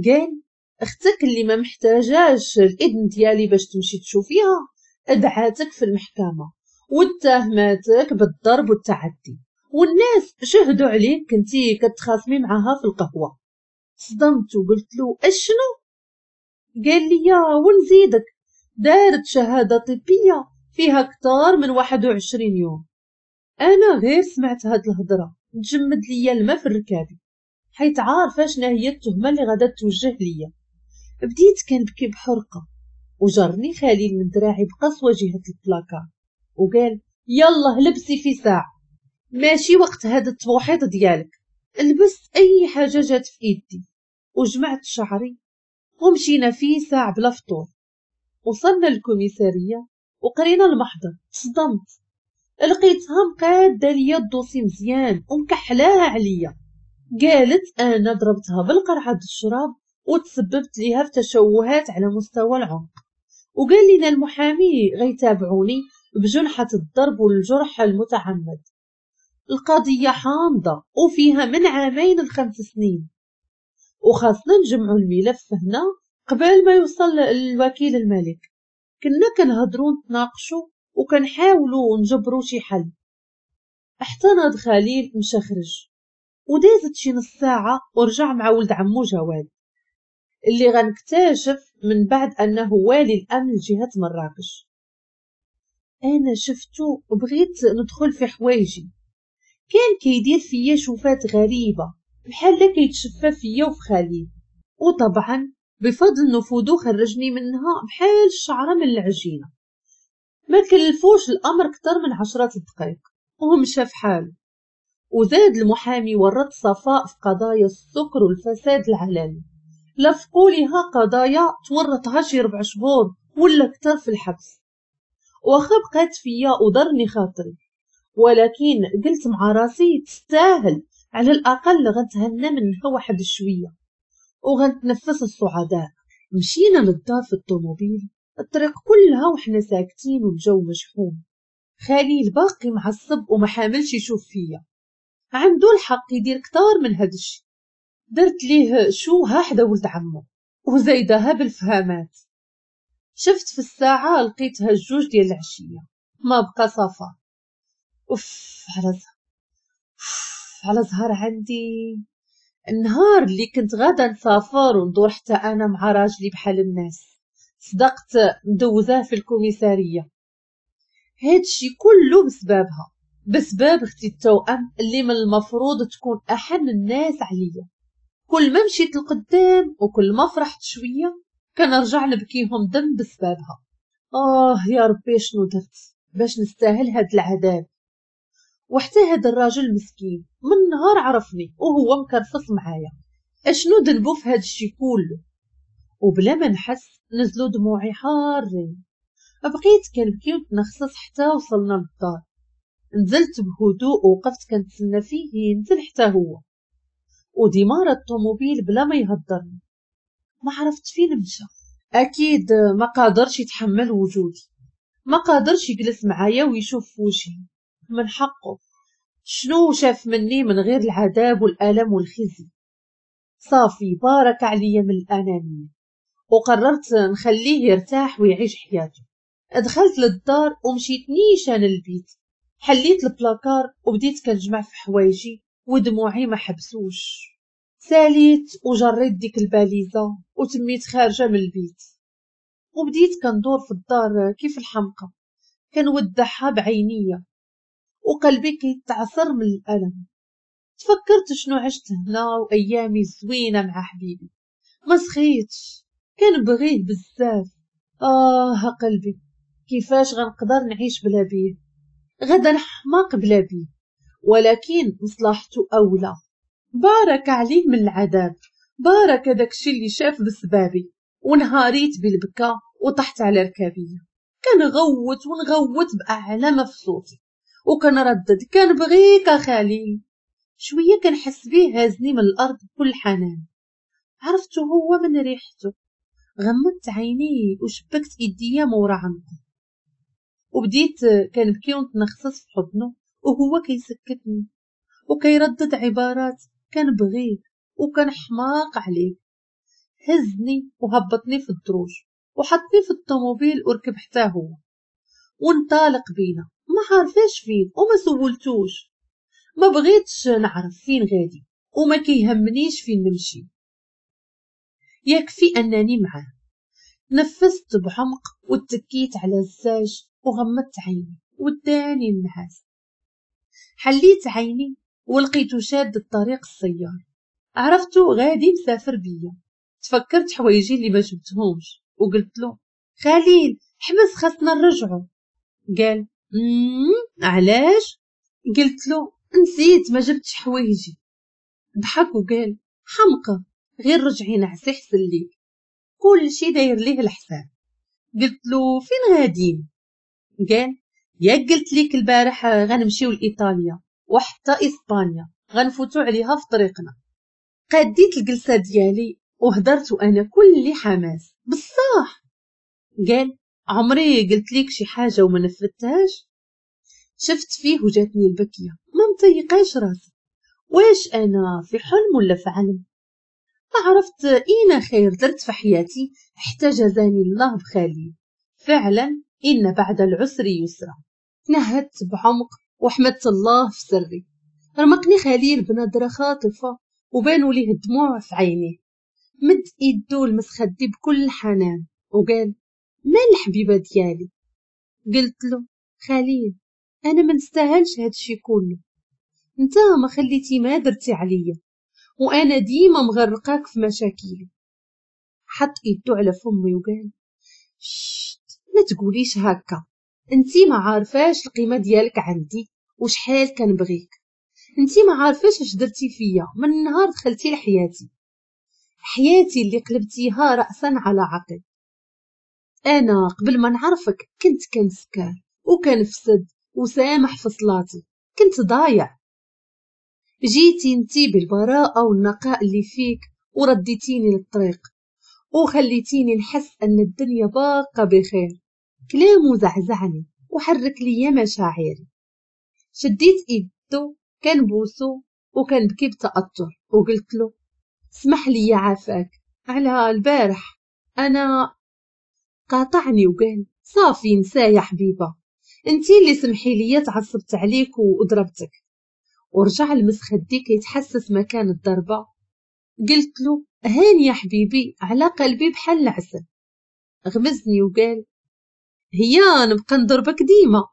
قال اختك اللي ما محتاجاش الاذن ديالي باش تمشي تشوفيها ادعاتك في المحكمة واتهماتك بالضرب والتعدي، والناس شهدوا عليك كنتي كتخاصمي معاها في القهوة. صدمت وقلت له اشنو؟ قال لي يا ونزيدك دارت شهادة طبية فيها اكثر من 21 يوم. انا غير سمعت هاد الهضرة تجمد ليا الماء في الركابي، حيت عارفه شنو هي التهمة اللي غادا توجه ليا. بديت كنبكي بحرقه، وجرني خليل من دراعي بقسوه جهة البلاكار وقال يلا لبسي في ساعة، ماشي وقت هذا التوحيط ديالك. لبست اي حاجة جات في ايدي وجمعت شعري ومشينا في ساعة بلا فطور. وصلنا للكوميساريه وقرينا المحضر. صدمت، لقيتها مقاده ليا ال dossier مزيان ومكحلاها عليا. قالت انا ضربتها بالقرعة الشراب وتسببت ليها في تشوهات على مستوى العنق، وقال لنا المحامي غيتابعوني بجنحة الضرب والجرح المتعمد. القضية حامضة وفيها من 2 ل5 سنين، وخاصنا نجمعوا الملف هنا قبل ما يوصل الوكيل الملك. كنا كنهضروا نتناقشوا وكنحاولوا نجبروا شي حل. حتى ناض خليل مشى خرج، ودازت شي نص ساعة ورجع مع ولد عمو جواد اللي غنكتشف من بعد أنه والي الأمن لجهة مراكش. أنا شفتو وبغيت ندخل في حوايجي، كان كيدير فيا شوفات غريبة بحال كيتشفى فيا وفي خليل، وطبعا بفضل نفوذو خرجني منها بحال الشعرة من العجينة. ما كلفوش الأمر كتر من 10 دقائق ومشى في حاله. وزاد المحامي ورط صفاء في قضايا السكر والفساد العالمي، لفقوا لها قضايا تورطها شي 4 شهور ولا كتر في الحبس. واخا بقات فيا وضرني خاطري، ولكن قلت مع راسي تستاهل، على الأقل غنتهنى منها واحد شوية وغنتنفس الصعداء. مشينا للدار في الطوموبيل، الطريق كلها وحنا ساكتين والجو مشحون. خليل باقي معصب وما حاملش يشوف فيا، عنده الحق يدير كتار من هاد الشي. درت ليه شوها حدا ولد عمو وزايدها بالفهامات. شفت في الساعة لقيتها 2 ديال العشية، ما بقى صفا. اوف على زهر عندي. النهار اللي كنت غادا نسافر وندور حتى انا مع راجلي بحال الناس، صدقت مدوزاه في الكوميسارية. هادشي كله بسببها، بسبب اختي التوأم اللي من المفروض تكون احن الناس عليا. كل ما مشيت لقدام وكل ما فرحت شوية كنرجع نبكيهم دم بسببها. يا ربي شنو درت باش نستاهل هاد العذاب. وحتى هاد الراجل مسكين من نهار عرفني وهو مكرفص معايا، اشنو ذنبو في هاد الشي كله؟ وبلا ما نحس نزلوا دموعي حارين. بقيت كنبكي وتنخصص حتى وصلنا للدار. نزلت بهدوء ووقفت كنتسنى فيه ينزل حتى هو، وديمارة الطوموبيل بلا ما يهضرني. ما عرفت فين مشى، اكيد ما قادرش يتحمل وجودي، ما قادرش يجلس معايا ويشوف في وجهي. من حقه، شنو شاف مني من غير العذاب والالم والخزي؟ صافي بارك عليا من الانانية، وقررت نخليه يرتاح ويعيش حياته. دخلت للدار ومشيت نيشان للبيت، حليت البلاكار وبديت كنجمع في حوايجي ودموعي ما حبسوش. ساليت وجريت ديك الباليزه وتميت خارجه من البيت، وبديت كندور في الدار كيف الحمقى، كنودعها بعينيا وقلبي كيتعصر من الالم. تفكرت شنو عشت هنا وايامي الزوينة مع حبيبي، ما سخيتش، كنبغيه بزاف. قلبي كيفاش غنقدر نعيش بلا بيه؟ غدا نحماق بلا بيه، ولكن مصلحته اولى. بارك عليه من العذاب، بارك داكشي اللي شاف بسبابي. ونهاريت بالبكا وطحت على ركابي، كنغوت ونغوت باعلى ما في صوتي وكنردد كنبغيك خليل. شوية كنحس بيه هازني من الارض بكل حنان. عرفته هو من ريحته. غمضت عيني وشبكت ايديا مورا عنقه وبديت كنبكي ونتنخصص في حضنه، وهو كيسكتني وكيردد عبارات كنبغيك وكنحماق عليك. هزني وهبطني في الدروج وحطني في الطوموبيل وركب حتى هو وانطلق بينا. ما عارفاش فين وما سولتوش، ما بغيتش نعرف فين غادي وما كيهمنيش فين نمشي، يكفي انني معاه. نفست بعمق واتكيت على الزاج وغمضت عيني وداني النعاس. حليت عيني ولقيته شاد الطريق السيار، عرفته غادي مسافر بيا. تفكرت حوايجي اللي ما جبتهمش وقلت له خليل حبس خاصنا نرجعو. قال علاش؟ قلت له نسيت ما جبتش حوايجي. ضحك وقال حمقى، غير رجعي نعسي حسن ليك، كل شي داير ليه الحساب. قلت له فين غاديين؟ قال ياك قلت ليك البارح غنمشيو لإيطاليا وحتى إسبانيا، غنفوتو عليها في طريقنا. قاديت الجلسة ديالي وهدرت وأنا كل حماس. بصح؟ قال عمري قلت ليك شي حاجة وما نفذتهاش؟ شفت فيه وجاتني البكية، ما مطيقاش راسي، واش أنا في حلم ولا في علم؟ ما عرفت إينا خير درت في حياتي حتى جزاني الله بخليل. فعلا إن بعد العسر يسرا. تنهدت بعمق وحمدت الله في سري. رمقني خليل بنظرة خاطفة وبانوا ليه الدموع في عينيه. مد ايدو لمسخدي بكل حنان وقال مال الحبيبة ديالي؟ قلت له خليل انا ما نستاهلش هادشي كله، انت ما خليتي ما درتي عليا وانا ديما مغرقاك في مشاكلي. حط ايدو على فمي وقال شت ما تقوليش هكا، انتي ما عارفاش القيمة ديالك عندي وشحال كنبغيك، انتي ما عارفاش اش درتي فيا من نهار دخلتي لحياتي، حياتي اللي قلبتيها رأسا على عقب. انا قبل ما نعرفك كنت كنسكر وكنفسد وسامح في صلاتي، كنت ضايع. جيتي انتي بالبراءة والنقاء اللي فيك ورديتيني للطريق وخليتيني نحس ان الدنيا باقة بخير. كلامه زعزعني وحرك لي مشاعري. شديت ايدو كنبوسو وكنبكي بتأثر وقلت له اسمح لي يا عافاك على البارح. انا قاطعني وقال صافي نسى يا حبيبه، انتي اللي سمحي لي تعصبت عليك وضربتك. ورجع المسخدي كيتحسس مكان الضربة. قلت له هاني يا حبيبي على قلبي بحال العسل. غمزني وقال هي نبقى نضربك ديما.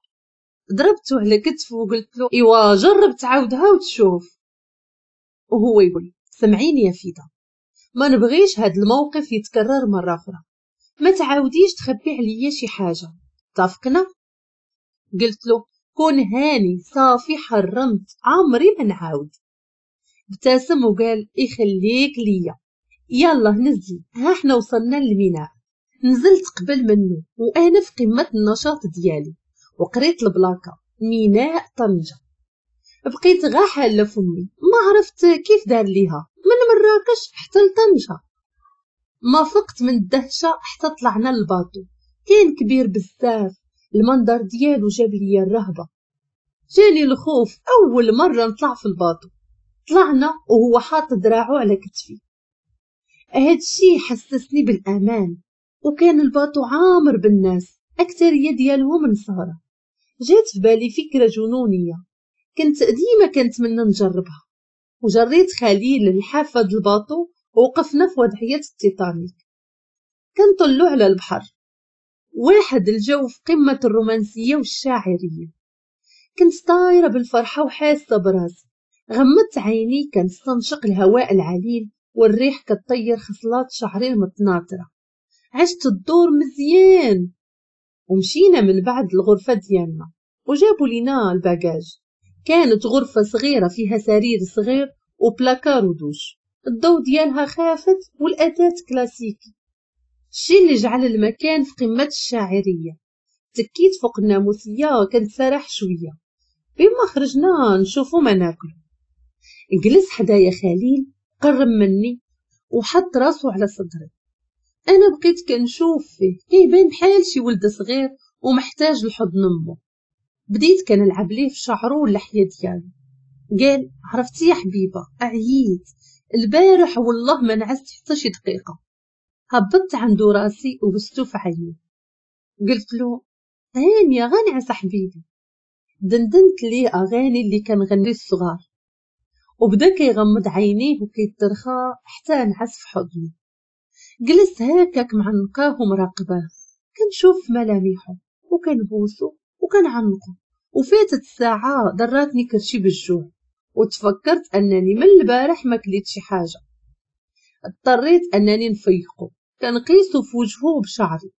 ضربته على كتفه وقلت له ايوا جرب تعاودها وتشوف. وهو يقول سمعيني يا فيدا، ما نبغيش هاد الموقف يتكرر مرة أخرى، ما تعاوديش تخبي عليا شي حاجة، اتفقنا؟ قلت له كون هاني صافي حرمت عمري ما نعاود. ابتسم وقال يخليك ليا، يلا نزلي ها احنا وصلنا للميناء. نزلت قبل منه وانا في قمة النشاط ديالي وقريت البلاكه ميناء طنجه. بقيت غا حاله فمي، ما عرفت كيف دار ليها من مراكش حتى لطنجه. ما فقت من الدهشة حتى طلعنا لل bateau. كان كبير بزاف، المنظر ديالو جاب لي الرهبة، جاني الخوف اول مرة نطلع في ال bateau. طلعنا وهو حاط دراعو على كتفي، هادشي حسسني بالامان. وكان ال bateau عامر بالناس، اكثرية ديالهم نصارى. جات في بالي فكرة جنونيه كنت ديما كنتمنى نجربها، وجريت خليل للحافه د ال bateau ووقفنا في وضعية التيتانيك كنطلو على البحر. واحد الجو في قمة الرومانسية والشاعريه. كنت طايره بالفرحه وحاسه براسي. غمضت عيني كنستنشق الهواء العليل والريح كتطير خصلات شعري المتناثره. عشت الدور مزيان. ومشينا من بعد الغرفة ديالنا وجابوا لينا ال bagage. كانت غرفة صغيرة فيها سرير صغير وبلاكار ودوش، الضوء ديالها خافت والاثاث كلاسيكي، الشيء اللي جعل المكان في قمة الشاعريه. تكيت فوق الناموسيه كنتسرح شوية بما خرجنا نشوفو ما ناكلو. جلس حدايا خليل، قرب مني وحط راسو على صدري. انا بقيت كنشوف فيه، كيبان بحال شي ولد صغير ومحتاج لحضن امه. بديت كنلعب ليه في شعره واللحية ديالو. قال عرفتي يا حبيبه عييت البارح، والله ما نعست حتى شي دقيقة. هبطت عنده راسي وبستو في عيني. قلت له هانيه غنعس حبيبي. دندنت ليه اغاني اللي كنغني الصغار، وبدا كيغمض عينيه وكيترخى حتى نعس في حضني. جلست هكاك معنقاه ومراقباه، كنشوف ملامحه وكنبوسو وكنعنقو. وفاتت الساعة دراتني كرشي بالجوع، وتفكرت انني من البارح ما كليت شي حاجة. اضطريت انني نفيقو، كنقيسو في وجهه بشعري،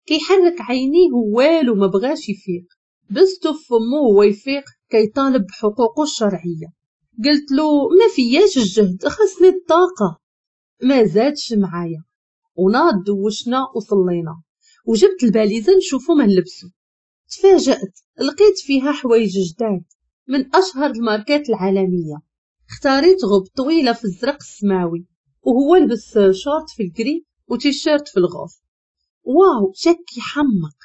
كيحرك عينيه والو ما بغاش يفيق. بستو في فمو وهو يفيق كيطالب بحقوقه الشرعية. قلت له ما فياش الجهد، خاصني الطاقة. ما زادش معايا، وناض دوشنا وصلينا، وجبت الباليزه نشوفو ما نلبسو. تفاجأت، لقيت فيها حوايج جداد من اشهر الماركات العالمية. اختاريت غوب طويلة في الزرق السماوي، وهو لبس شورت في ال gris وتيشيرت في ال rose. واو شك يحمق.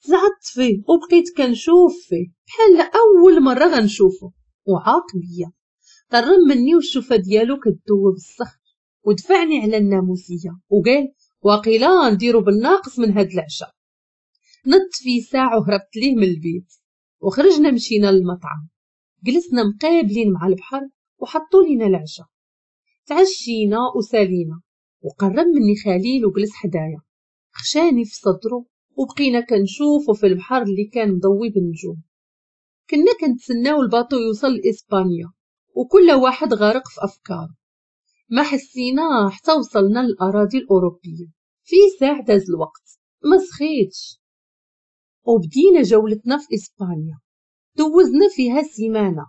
زعطت فيه وبقيت كنشوف فيه بحال اول مرة غنشوفه، وعاق بيا. قرب مني والشوفه ديالو كتذوب الصخر، ودفعني على الناموسيه وقال واقيلا نديرو بالناقص من هاد العشاء. نط في ساعة وهربت ليه من البيت، وخرجنا مشينا للمطعم. جلسنا مقابلين مع البحر وحطوا لينا العشاء. تعشينا وسالينا، وقرب مني خليل وجلس حدايا، خشاني في صدره، وبقينا كنشوفو في البحر اللي كان مضوي بالنجوم. كنا كنتسناو ال bateau يوصل لإسبانيا، وكل واحد غارق في أفكاره. ما حسينا حتى وصلنا للأراضي الأوروبية. في ساعة داز الوقت، ما سخيتش، وبدينا جولتنا في إسبانيا. دوزنا فيها سيمانة،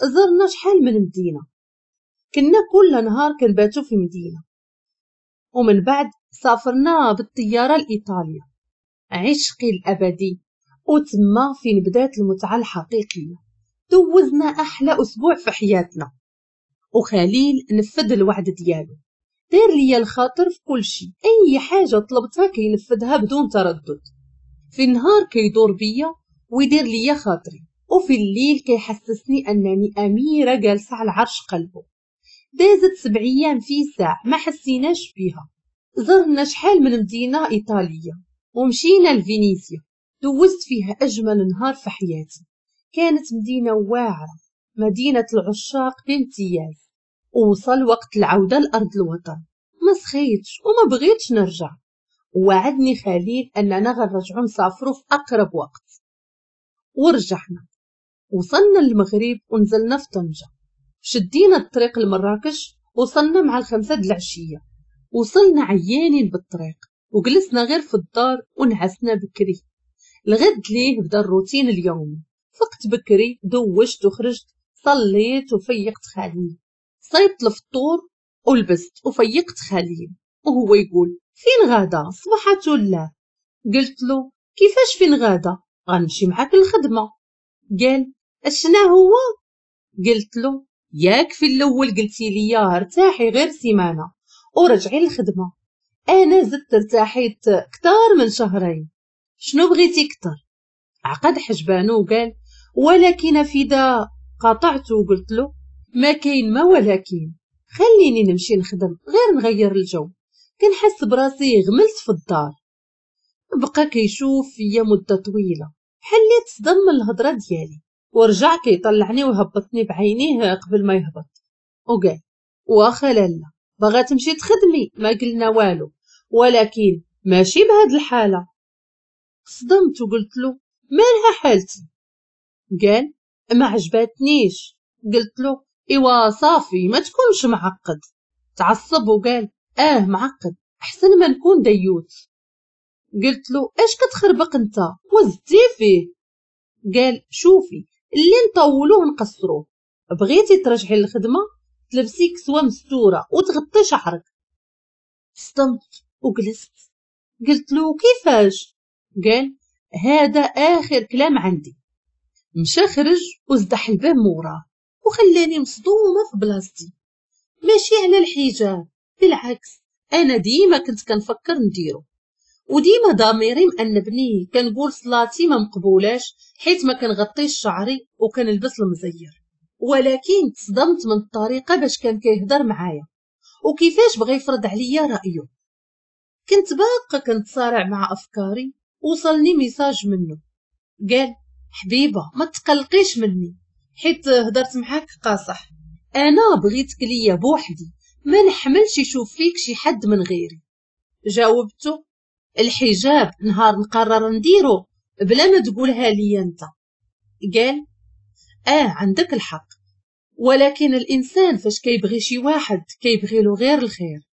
زرنا شحال من مدينة، كنا كل نهار كنباتو في مدينة. ومن بعد سافرنا بالطيارة لإيطاليا، عشقي الأبدي، وتما فين بدات المتعة الحقيقية. دوزنا أحلى أسبوع في حياتنا، وخليل نفذ الوعد ديالو، دار ليا الخاطر في كل شيء، أي حاجة طلبتها كينفذها بدون تردد. في النهار كيدور بيا ويدير ليا خاطري، وفي الليل كيحسسني أنني أميرة جالسة على عرش قلبه. دازت 7 أيام في ساعة ما حسيناش بيها. زرنا شحال من مدينة إيطالية، ومشينا لفينيسيا. دوزت فيها أجمل نهار في حياتي. كانت مدينة واعرة، مدينة العشاق بامتياز. وصل وقت العودة لأرض الوطن، ما سخيتش وما بغيتش نرجع. ووعدني خليل أننا غنرجعو نسافرو في أقرب وقت، ورجعنا. وصلنا للمغرب ونزلنا في طنجة، شدينا الطريق لمراكش. وصلنا مع 5 د العشية. وصلنا عيانين بالطريق، وجلسنا غير في الدار ونعسنا بكري. الغد ليه بدا الروتين اليومي. فقت بكري، دوشت وخرجت، صليت وفيقت خليل، صيبت الفطور ولبست وفيقت خليل، وهو يقول فين غادا صباحات الله؟ قلت له كيفاش فين غادا؟ غنمشي معاك الخدمة. قال اشنا هو؟ قلت له ياك في الاول قلتي لي ارتاحي غير سيمانه ورجعي للخدمة، انا زدت ارتاحيت كتار من شهرين، شنو بغيتي كتر؟ عقد حجبانو وقال ولكن فدا. قاطعته وقلت له ما كاين ما ولكن، خليني نمشي نخدم غير نغير الجو، كنحس براسي غملت في الدار. بقى كيشوف فيا مده طويلة بحال اللي تصدم من الهضرة ديالي، ورجع كيطلعني وهبطني بعينيه قبل ما يهبط، وقال واخا لالا باغا تمشي تخدمي ما قلنا والو، ولكن ماشي بهاد الحالة. صدمت وقلت له مالها حالتي؟ قال ما عجبتنيش. قلت له ايوا صافي ما تكونش معقد. تعصب وقال معقد احسن ما نكون ديوت. قلت له اش كتخربق انت وزدتي فيه؟ قال شوفي اللي نطولوه نقصروه، بغيتي ترجعي للخدمة تلبسي كسوه مستورة وتغطي شعرك. صدمت وجلست. قلت له كيفاش؟ قال هذا اخر كلام عندي. مشى خرج وزدح الباب موراه، وخلاني مصدومة في بلاصتي. ماشي على الحجاب، بالعكس انا ديما كنت كنفكر نديرو، وديما ضميري مأنبني، كنقول صلاتي ما مقبولاش حيت ما كنغطيش شعري وكنلبس المزير. ولكن تصدمت من الطريقة باش كان كيهضر معايا وكيفاش بغى يفرض عليا رايه. كنت باقا كنتصارع مع افكاري. وصلني message منه قال حبيبه ما تقلقيش مني حيت هضرت معاك قاصح، انا بغيتك ليا بوحدي، ما نحملش يشوف فيك شي حد من غيري. جاوبته الحجاب نهار نقرر نديرو بلا ما تقولها لي انت. قال عندك الحق، ولكن الانسان فاش كيبغي شي واحد كيبغي له غير الخير.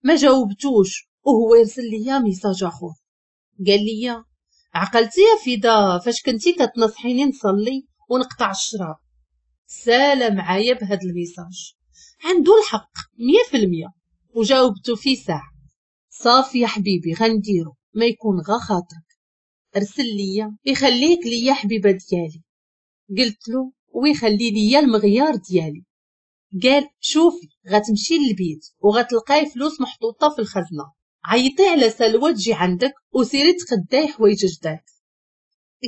ما جاوبتوش وهو يرسل لي message اخر قال لي عقلتي يا فدا فاش كنتي كتنصحيني نصلي ونقطع الشراب. سالا معايا بهذا ال message، عنده الحق 100%. وجاوبته في ساعة صافي يا حبيبي غنديرو ما يكون غا خاطرك، ارسل ليا يخليك ليا حبيبه ديالي. قلت له ويخلي ليا المغيار ديالي. قال شوفي غتمشي للبيت وغتلقاي فلوس محطوطة في الخزنة، عيطي على سلوى تجي عندك وسيري تقداي حوايج جداد.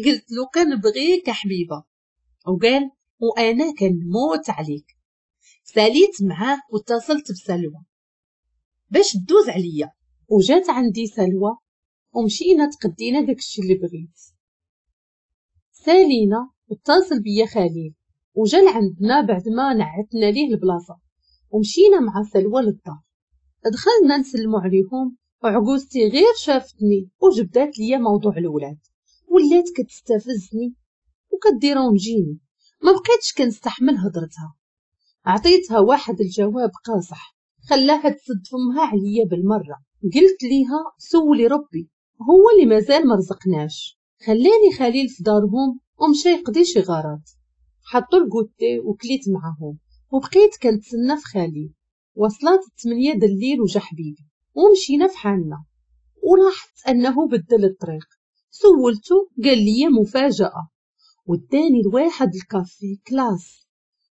قلت له كنبغيك يا حبيبه، وقال وانا كنموت عليك. ساليت معاه واتصلت بسلوى باش تدوز عليا، وجات عندي سلوى ومشينا تقدينا داكشي اللي بغيت. سالينا واتصل بيا خليل وجا لعندنا بعد ما نعتنا ليه البلاصة، ومشينا مع سلوى للدار. دخلنا نسلمو عليهم، وعجوزتي غير شافتني وجبدات ليا موضوع الولاد، ولات كتستفزني وكديرونجيني، ما بقيتش كنستحمل هضرتها. عطيتها واحد الجواب قاصح خلاها تسد فمها عليا بالمرة. قلت ليها سولي ربي هو اللي مازال ما رزقناش. خلاني خليل في دارهم ومشى يقضي شي غرض، حطوا ال goûter وكليت معاهم وبقيت كنتسنى في خليل. وصلت 8 د الليل وجا حبيبي ومشينا في حالنا، ولاحظت انه بدل الطريق. سولته قال لي مفاجأة، وداني لواحد ال café classe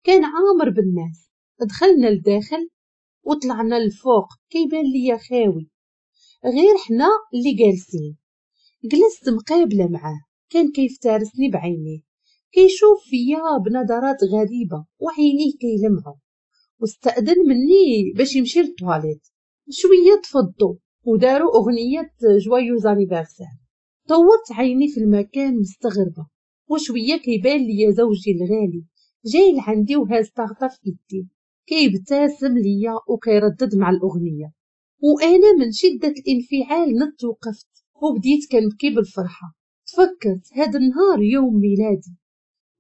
كان عامر بالناس. دخلنا لداخل وطلعنا للفوق كيبان ليا خاوي غير حنا اللي جالسين. جلست مقابله معاه، كان كيفترسني بعينيه، كيشوف فيا بنظرات غريبة وعينيه كيلمعوا، واستأذن مني باش يمشي للطواليت. شوية تفضوا وداروا اغنية joyeux anniversaire. طورت عيني في المكان مستغربه، وشوية كيبان ليا زوجي الغالي جاي لعندي وهاز طاقة في يدي، كيبتسم ليا وكيردد مع الاغنية. وانا من شده الانفعال نط وقفت وبديت كنبكي بالفرحه. تفكرت هذا النهار يوم ميلادي،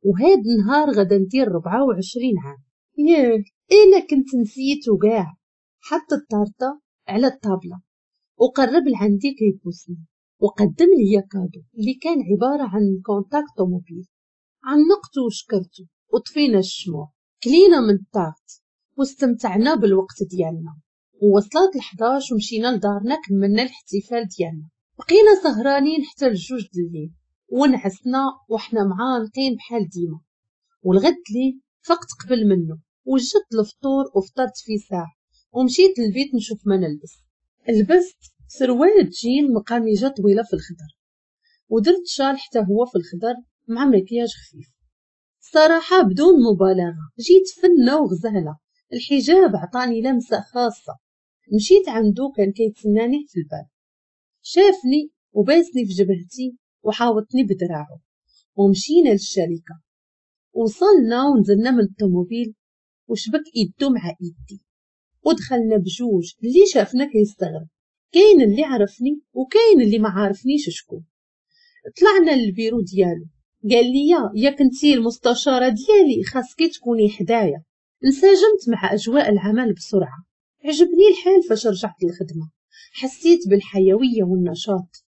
وهذا النهار غدا ندير 24 عام. ياه انا كنت نسيتو كاع. حط الطارطه على الطابله وقرب لعندي كيبوسني وقدم لي cadeau اللي كان عبارة عن contact طوموبيل. عنقته وشكرته وطفينا الشموع، كلينا من ال tarte واستمتعنا بالوقت ديالنا. ووصلت 11 ومشينا لدارنا كملنا الاحتفال ديالنا. بقينا سهرانين حتى الجوج د الليل ونعسنا وحنا معانقين بحال ديما. والغد لي فقت قبل منه وجدت الفطور وفطرت في ساعة ومشيت للبيت نشوف ما نلبس. لبست سروال جين مقاميجه طويلة في الخضر، ودرت شال حتى هو في الخضر مع مكياج خفيف. صراحة بدون مبالغه جيت فنه وغزاله، الحجاب عطاني لمسه خاصة. مشيت عنده كان كيتسناني في الباب، شافني وباسني في جبهتي وحاوطني بدراعه، ومشينا للشركة. وصلنا ونزلنا من الطوموبيل وشبك ايدو مع ايدي ودخلنا بجوج. اللي شافنا كيستغرب، كاين اللي عرفني وكاين اللي ما عارفنيش شكون. طلعنا للبيرو ديالو، قال لي يا كنتي المستشارة ديالي خاصك تكوني حدايا. انسجمت مع اجواء العمل بسرعة، عجبني الحال فاش رجعت للخدمة، حسيت بالحيويه والنشاط،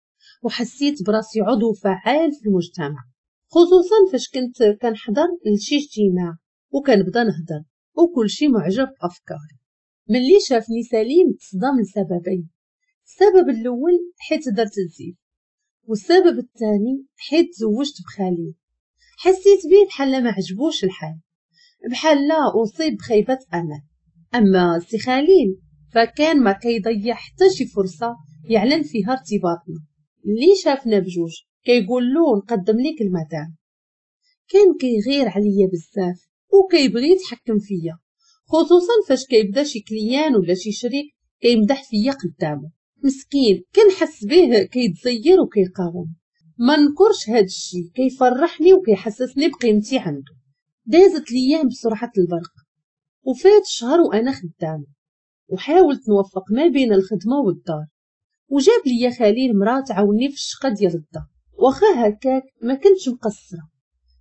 وحسيت براسي عضو فعال في المجتمع، خصوصا فاش كنت كنحضر لشي اجتماع وكنبدا نهضر وكل شي معجب بافكاري. ملي شافني سليم تصدم لسببين، السبب الاول حيت درت الزيف، والسبب الثاني حيت تزوجت بخليل. حسيت بيه بحال ما عجبوش الحال. بحال لا اصيب بخيبه امل. اما سي خليل فكان ما كيضيع حتى شي فرصة يعلن فيها ارتباطنا. اللي شافنا بجوج كيقول له نقدم لك المدام. كان كيغير عليا بزاف وكيبغي يتحكم فيا، خصوصا فاش كيبدا شي client ولا شي شريك كيمدح فيا قدامه. مسكين كنحس به كيتزير وكيقاوم. ما نكرش هاد الشي كيفرحني وكيحسسني بقيمتي عنده. دازت الايام بسرعة البرق وفات شهر وانا خدامه، وحاولت نوفق ما بين الخدمة والدار. وجاب لي خليل مرا تعاوني في الشقة ديال الدار، واخا هكاك ما كنتش مقصرة،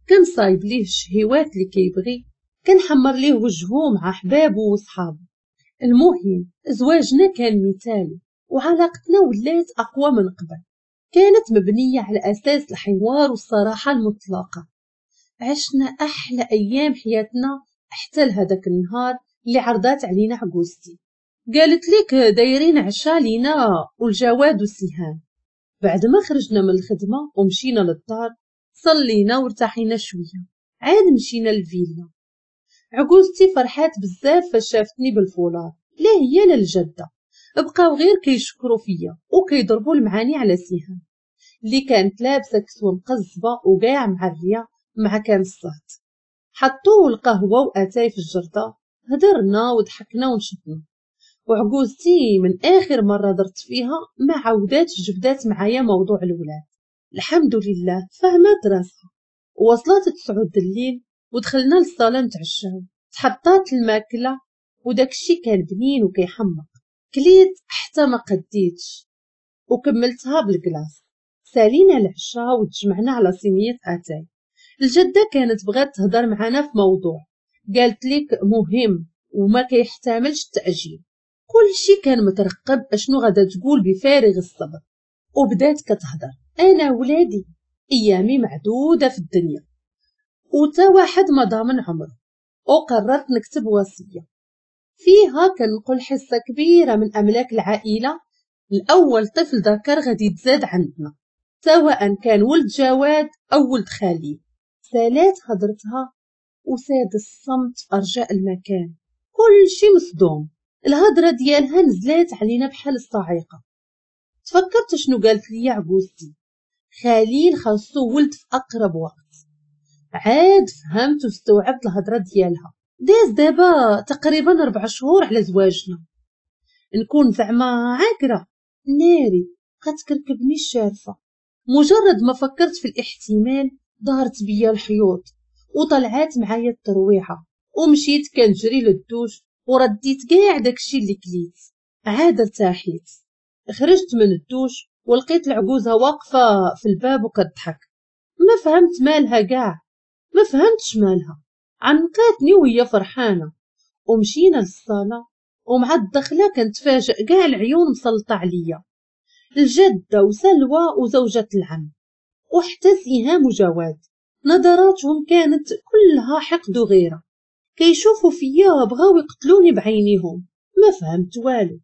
كنصايب ليه الشهيوات اللي كيبغي، كنحمر ليه وجهه مع حبابة وصحابه. المهم زواجنا كان مثالي وعلاقتنا ولات اقوى من قبل. كانت مبنية على اساس الحوار والصراحة المطلقة. عشنا احلى ايام حياتنا حتى لهداك النهار اللي عرضات علينا عجوزتي. قالت لك دايرين عشا لينا والجواد والسهام. بعد ما خرجنا من الخدمة ومشينا للدار صلينا وارتاحينا شوية، عاد مشينا للفيلا. عجوزتي فرحات بزاف فاش شافتني بالفولار، لا هي لا الجدة، بقاو غير كيشكروا فيا وكيضربوا المعاني على سهام اللي كانت لابسه كسوه مقزبه وكاع معريه مع كان الصهد. حطوا القهوة واتاي في الجرده، هدرنا وضحكنا ونشطنا. وعجوزتي من اخر مرة درت فيها ما عاوداتش جبدات معايا موضوع الولاد. الحمد لله فهمت راسها. وصلت 9 الليل ودخلنا للصاله نتعشاو. تحطات الماكلة وداكشي كان بنين وكيحمق. كليت حتى ما قديتش وكملتها بال glace. سالينا العشاء وتجمعنا على صينية اتاي. الجدة كانت بغات تهضر معنا في موضوع، قالت لك مهم وما كيحتملش التاجيل. كل شي كان مترقب اشنو غادا تقول بفارغ الصبر. وبدات كتهضر، انا ولادي ايامي معدودة في الدنيا وتا واحد ما ضامن عمره، وقررت نكتب وصية فيها كنقول حصة كبيرة من املاك العائلة لاول طفل ذكر غادي يتزاد عندنا، سواء كان ولد جواد او ولد خليل. سالات هضرتها وساد الصمت في ارجاء المكان، كل شي مصدوم. الهضرة ديالها نزلات علينا بحال الصاعقة. تفكرت شنو قالت لي عجوزتي، خليل خاصو ولد في اقرب وقت. عاد فهمت واستوعبت الهضرة ديالها. داز دابا تقريبا 4 شهور على زواجنا. نكون زعما عاكره ناري كتكركبني الشارفه. مجرد ما فكرت في الاحتمال دارت بيا الحيوط وطلعات معايا الترويحه، ومشيت كنجري للدوش ورديت كاع داكشي اللي كليت. عاد ارتاحيت. خرجت من الدوش ولقيت العجوزة واقفة في الباب وكتضحك. ما فهمت مالها كاع، ما فهمتش مالها. عنقاتني وهي فرحانة ومشينا للصاله. ومع الدخلة كنتفاجئ كاع العيون مسلطه عليا، الجدة وسلوى وزوجة العم وحتى سهام وجواد. نظراتهم كانت كلها حقد وغيره، كيشوفوا فيا بغاو يقتلوني بعينيهم. ما فهمت والو.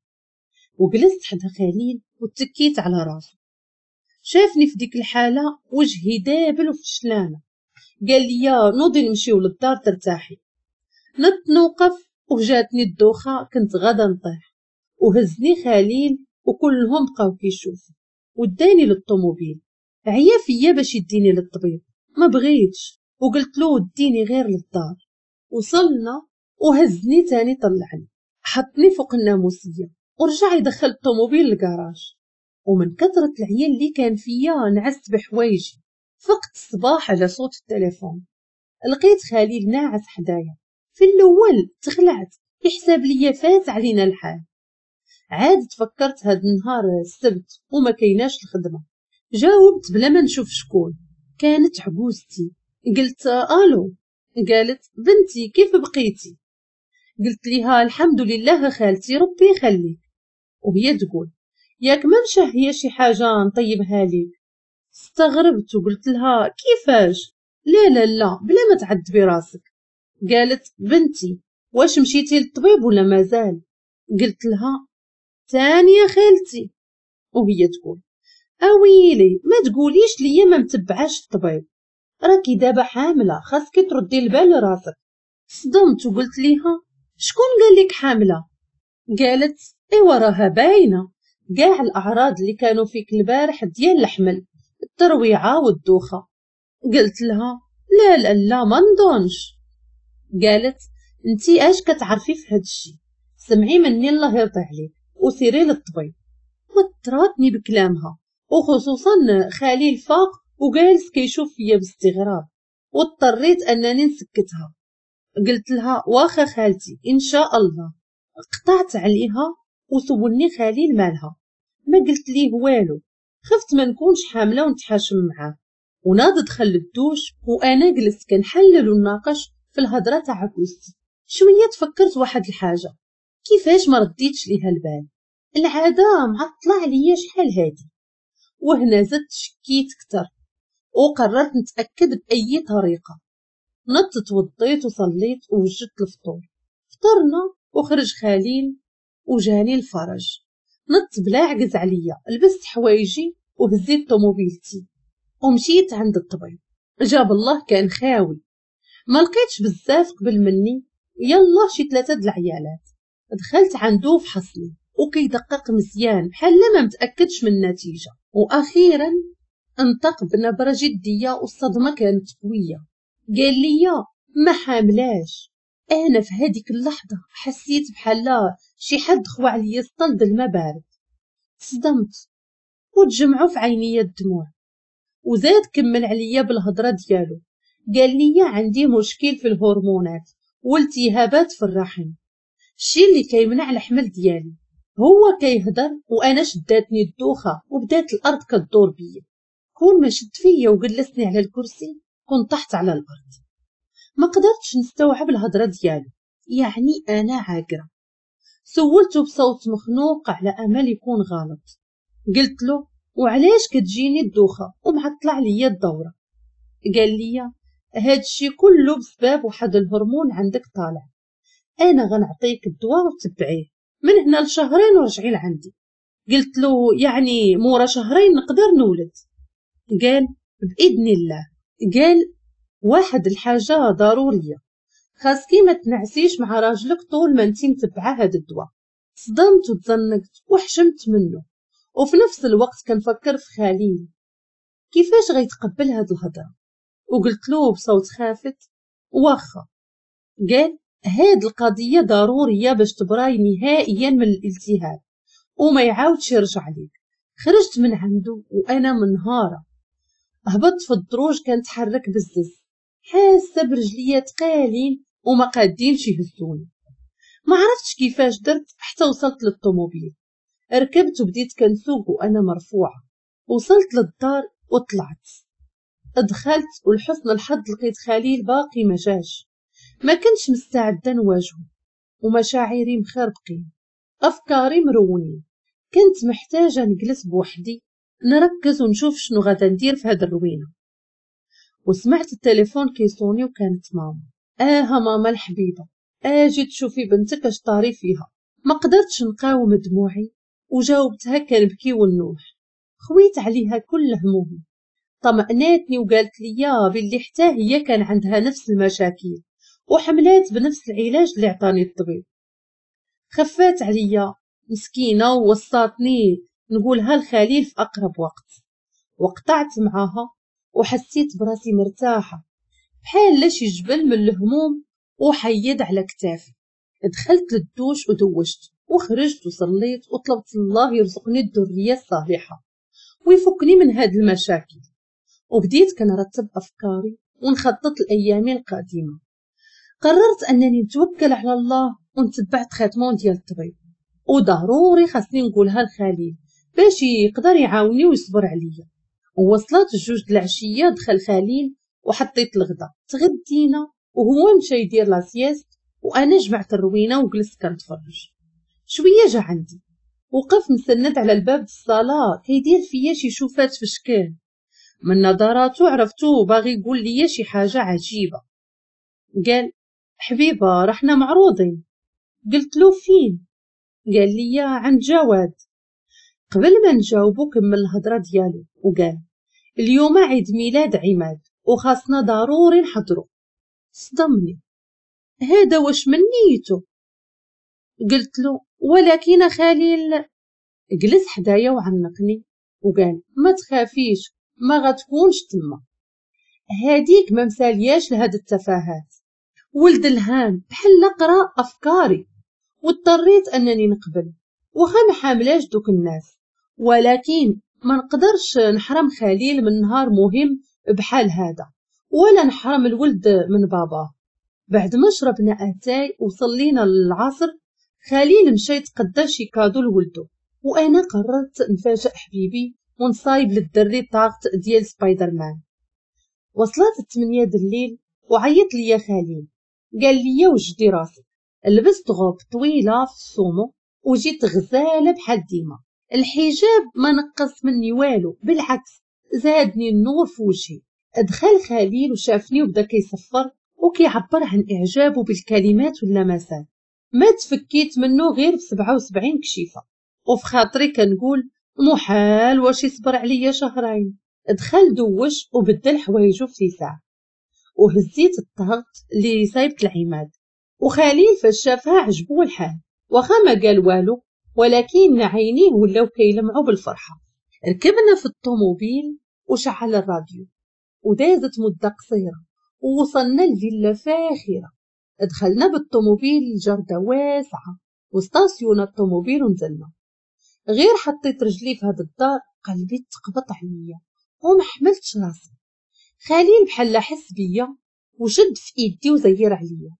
وجلست حدا خليل وتكيت على راسه. شافني في ديك الحالة وجهي دابل وفشلانه. قال لي نوضي نمشيو للدار ترتاحي. نط نوقف وجاتني الدوخه، كنت غادا نطيح. وهزني خليل وكلهم بقاو كيشوفوا وداني للطوموبيل. عيا فيا باش يديني للطبيب، ما بغيتش وقلت له ديني غير للدار. وصلنا وهزني تاني طلعني، حطني فوق الناموسيه ورجع يدخل الطوموبيل للكراج. ومن كثرة العيال اللي كان فيا نعست بحوايجي. فقت الصباح على صوت التليفون، لقيت خليل ناعس حدايا. في الاول تخلعت، يحسب ليا فات علينا الحال. عاد تفكرت هاد النهار السبت وما كايناش الخدمة. جاوبت بلا ما نشوف شكون، كانت عجوزتي. قلت الو. قالت بنتي كيف بقيتي؟ قلت ليها الحمد لله خالتي ربي يخليك. وهي تقول ياك ما مشهيه شي حاجة نطيبها ليك. استغربت وقلت لها كيفاش؟ لا لا لا بلا ما تعذبي راسك. قالت بنتي واش مشيتي للطبيب ولا مازال؟ قلت لها تاني يا خالتي. وهي تقول اويلي ما تقوليش ليا ما متبعاش الطبيب، راكي دابا حامله خاصك تردي البال لراسك. صدمت وقلت ليها شكون قال لك حامله؟ قالت ايوا راها باينة، كاع الاعراض اللي كانوا فيك البارح ديال الحمل، الترويعه والدوخه. قلت لها لا لا لا ما نظنش. قالت انتي اش كتعرفي في هاد الشيء، سمعي مني الله يرضي عليك وسيري للطبيب. وتراتني بكلامها، وخصوصا خليل فاق وجالس كيشوف فيا باستغراب، واضطريت انني نسكتها. قلت لها واخا خالتي ان شاء الله. قطعت عليها وسولني خليل مالها، ما قلت ليه والو، خفت ما نكونش حامله ونتحاشم معاه. وناض دخل للدوش وانا جلست كنحلل ونناقش في الهضرة تاع عكوزتي. شوية تفكرت واحد الحاجة، كيفاش ما رديتش ليها البال، العادة معطلة عليا شحال هادي. وهنا زدت شكيت كتر وقررت نتاكد باي طريقه. نضت توضيت وصليت ووجدت الفطور، فطرنا وخرج خليل وجاني الفرج. نضت بلا عجز عليا، لبست حوايجي وهزيت طوموبيلتي ومشيت عند الطبيب. جاب الله كان خاوي، ما لقيتش بزاف قبل مني، يلا شي 3 د العيالات. دخلت عنده فحصني وكيدقق مزيان بحال ما متاكدش من النتيجة. واخيرا انطق بنبره جدية والصدمه كانت قوية، قال لي ما حاملاش. انا في هذيك اللحظة حسيت بحال شي حد خوا عليا سطل د الماء بارد، تصدمت وتجمعوا في عيني الدموع. وزاد كمل عليا بالهضره ديالو، قال لي عندي مشكل في الهرمونات والتهابات في الرحم، الشيء اللي كيمنع الحمل ديالي. هو كيهضر وانا شداتني الدوخه وبدات الارض كدور بيا. كون ما شد فيا وجلسني على الكرسي كنت طحت على الارض. ما قدرتش نستوعب الهضرة ديالو، يعني انا عاقرة. سولته بصوت مخنوق على امل يكون غلط، قلت له وعلاش كتجيني الدوخه ومعطله عليا الدورة؟ قال لي هادشي كله بسبب واحد الهرمون عندك طالع، انا غنعطيك الدواء وتبعيه من هنا لشهرين ورجعي لعندي. قلت له يعني مورا شهرين نقدر نولد؟ قال باذن الله. قال واحد الحاجة ضرورية، خاصكي ما تنعسيش مع راجلك طول ما انتي متبعة هاد الدواء. صدمت وتزنقت وحشمت منه، وفي نفس الوقت كنفكر في خليل كيفاش غيتقبل هاد الهضرة. وقلت له بصوت خافت واخا. قال هاد القضية ضرورية باش تبراي نهائيا من الالتهاب وما يعاودش يرجع ليك. خرجت من عنده وانا منهاره، هبطت في الدروج كنتحرك بزز، حاسه برجليا تقالين وما قادينش يهزوني. ما عرفتش كيفاش درت حتى وصلت للطوموبيل، ركبت وبديت كنسوق وانا مرفوعة. وصلت للدار وطلعت، دخلت ولحسن الحظ لقيت خليل باقي ما جاش. ما كنتش مستعدة نواجهه ومشاعري مخربقين، افكاري مرونين. كنت محتاجه نجلس بوحدي نركز ونشوف شنو غادا ندير في هاد الروينه. وسمعت التليفون كيصوني وكانت ماما. اه ماما الحبيبة، اجي تشوفي بنتك اش طاري فيها. ما قدرتش نقاوم دموعي وجاوبتها كنبكي ونوح. خويت عليها كل همومي، طمأناتني وقالت لي باللي حتى هي كان عندها نفس المشاكل وحملات بنفس العلاج اللي عطاني الطبيب. خفات عليا مسكينه ووصاتني نقولها لخليل في اقرب وقت. وقطعت معاها وحسيت براسي مرتاحة بحال شي جبل من الهموم وحيد على كتافي. دخلت للدوش ودوشت وخرجت وصليت وطلبت الله يرزقني الذرية الصالحة ويفكني من هاد المشاكل. وبديت كنرتب افكاري ونخطط الايام القادمة. قررت انني نتوكل على الله ونتبع traitement ديال الطبيب، وضروري خاصني نقولها لخليل باش يقدر يعاوني ويصبر عليا. ووصلت 2 د العشية دخل خليل وحطيت الغدا، تغدينا وهو مشى يدير la sieste وانا جمعت الروينه وجلست كنتفرج. شوية جا عندي وقف مسند على الباب الصاله كيدير فيا شي شوفات في شكل، من نظراته عرفتو باغي يقول لي شي حاجة عجيبة. قال حبيبه رحنا معروضين. قلت له فين؟ قال لي عند جواد. قبل ما نجاوبو كمل الهضرة ديالو وقال اليوم عيد ميلاد عماد وخاصنا ضروري نحضرو. صدمني، هذا واش من نيته؟ قلت له ولكن خليل. جلس حدايا وعنقني وقال ما تخافيش، ما غتكونش تما، هاديك ما مسالياش لهاد التفاهات. ولد الهام بحال قرا افكاري، واضطريت انني نقبل واخا ما حاملاش دوك الناس، ولكن ما نقدرش نحرم خليل من نهار مهم بحال هذا، ولا نحرم الولد من باباه. بعد ما شربنا اتاي وصلينا للعصر، خليل مشى يتقدى شي cadeau لولدو، وانا قررت نفاجئ حبيبي ونصايب للدري tarte ديال سبايدر مان. وصلت 8 د الليل وعيط ليا خليل، قال لي وجدي راسك. لبست غوب طويلة في ال saumon وجيت غزاله بحال ديما، الحجاب ما نقص مني والو، بالعكس زادني النور في وجهي. دخل خليل وشافني وبدا كيصفر وكيعبر عن اعجابه بالكلمات واللمسات. ما تفكيت منه غير ب 77 كشيفه، وفي خاطري كنقول محال واش يصبر عليا شهرين. دخل دوش وبدل حوايجو في ساعة، وهزيت ال tarte اللي صايبت العماد. وخليل فاش شافها عجبو الحال، واخا ما قال والو، ولكن عينيه ولاو كيلمعوا بالفرحه. ركبنا في الطوموبيل وشعل الراديو، ودازت مده قصيرة ووصلنا لفيلا فاخره. دخلنا بالطوموبيل لجردة واسعة وستاسيونا الطوموبيل ونزلنا. غير حطيت رجلي في هاد الدار قلبي تقبط عليا وما حملتش راسي. خليل بحال حس بيا وشد في ايدي وزير عليا،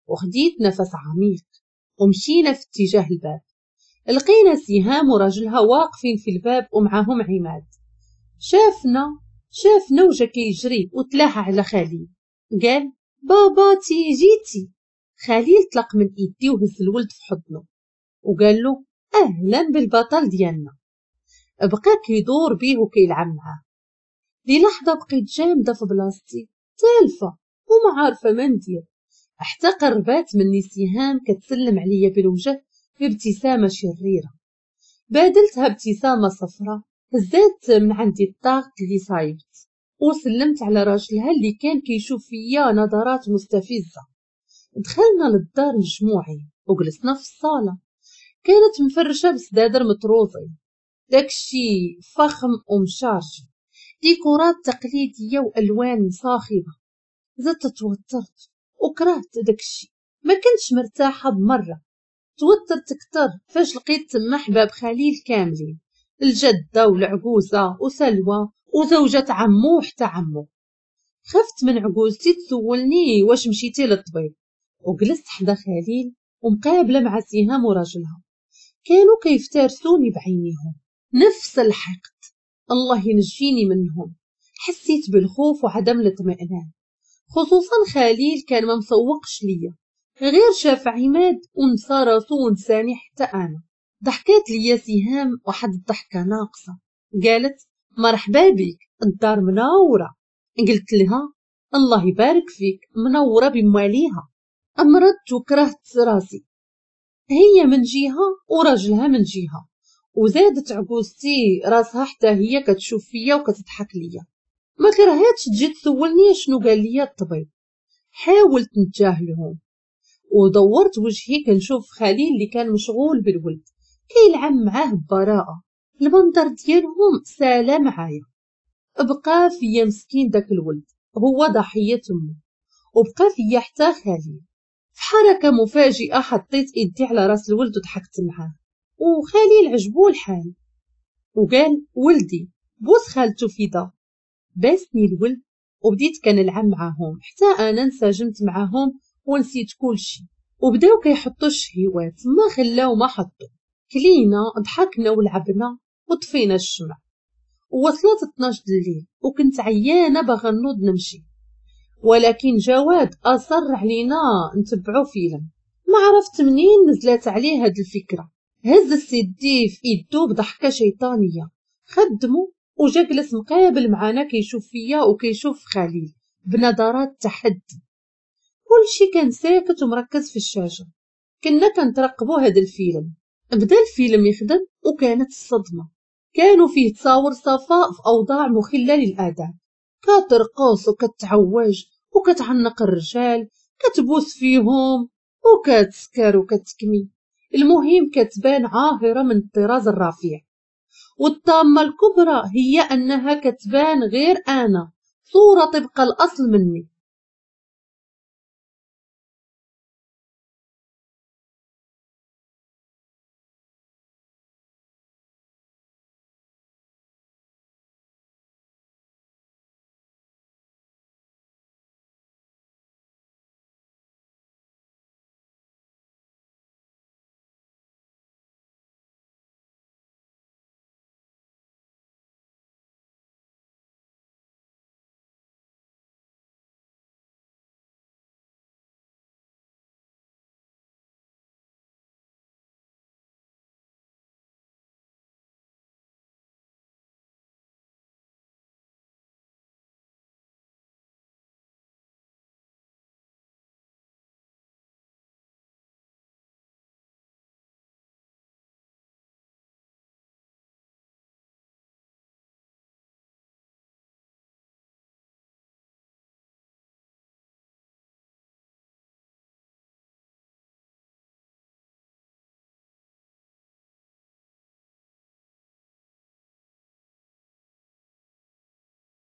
وخديت نفس عميق ومشينا في اتجاه الباب. لقينا سهام وراجلها واقفين في الباب ومعاهم عماد. شافنا وجا كيجري وتلاح على خليل، قال باباتي جيتي. خليل طلق من ايدي وهز الولد في حضنه وقال له اهلا بالبطل ديالنا. بقى كيدور بيه وكيلعب معاه. للحظة بقيت جامدة في بلاصتي تالفه وما عارفه ما ندير، حتى قربات مني سهام كتسلم عليا بالوجه بابتسامة شريرة. بادلتها ابتسامة صفراء، هزات من عندي ال tarte اللي صايبت وسلمت على راجلها اللي كان كيشوف فيا نظرات مستفزة. دخلنا للدار مجموعين وجلسنا في الصاله، كانت مفرشه بسدادر مطروزين، داكشي فخم ومشارج، ديكورات تقليدية والوان صاخبه. زدت توترت وكرهت داكشي، ما كنتش مرتاحة بمرة. توترت اكثر فاش لقيت تما حباب خليل كاملين، الجدة والعجوزه وسلوى وزوجة عمو وحتى عمو. خفت من عجوزتي تسولني واش مشيتي للطبيب، وجلست حدا خليل ومقابله مع سهام وراجلها. كانوا كيفترسوني بعينيهم نفس الحقد، الله ينجيني منهم. حسيت بالخوف وعدم الاطمئنان، خصوصا خليل كان ما مسوقش ليا، غير شاف عماد ونسى راسو ونساني حتى انا. ضحكات ليا سهام واحد الضحكة ناقصه، قالت مرحبا بك الدار منورة. قلت لها الله يبارك فيك منورة بمواليها. امرضت وكرهت راسي، هي من جهة وراجلها من جهة، وزادت عجوزتي راسها حتى هي كتشوف فيا وكتضحك ليا. ما كرهتش تجي تسولني شنو قال لي الطبيب. حاولت نتجاهلهم ودورت وجهي كنشوف خليل اللي كان مشغول بالولد كيلعب معاه ببراءه. المنظر ديالهم سالا معايا. بقى فيا مسكين داك الولد، هو ضحية امه، وبقى فيا حتى خليل. في حركة مفاجئة حطيت ايدي على راس الولد وضحكت معاه، وخليل عجبو الحال وقال ولدي بوس خالته فدا. باسني الولد وبديت كنلعب معاهم حتى انا انسجمت معاهم ونسيت كلشي. وبداو كيحطوا الشهيوات، ما خلاو ما حطوا، كلينا ضحكنا ولعبنا وطفينا الشمع. ووصلت 12 الليل وكنت عيانه باغا نوض نمشي، ولكن جواد اصر علينا نتبعو فيلم. ما عرفت منين نزلت عليه هاد الفكرة. هز السيدي في ايدو بضحكه شيطانية، خدمو وجا جلس مقابل معانا كيشوف فيا وكيشوف خليل بنظرات تحدي. كلشي كان ساكت ومركز في الشاشة، كنا كنترقبوا هذا الفيلم. بدا الفيلم يخدم وكانت الصدمة، كانوا فيه تصاور صفاء في اوضاع مخله للاداب، كترقص وكتعوج وكتعنق الرجال، كتبوس فيهم وكتسكر وكتكمي. المهم كتبان عاهرة من الطراز الرفيع. والطامة الكبرى هي أنها كتبان غير أنا، صورة طبق الأصل مني.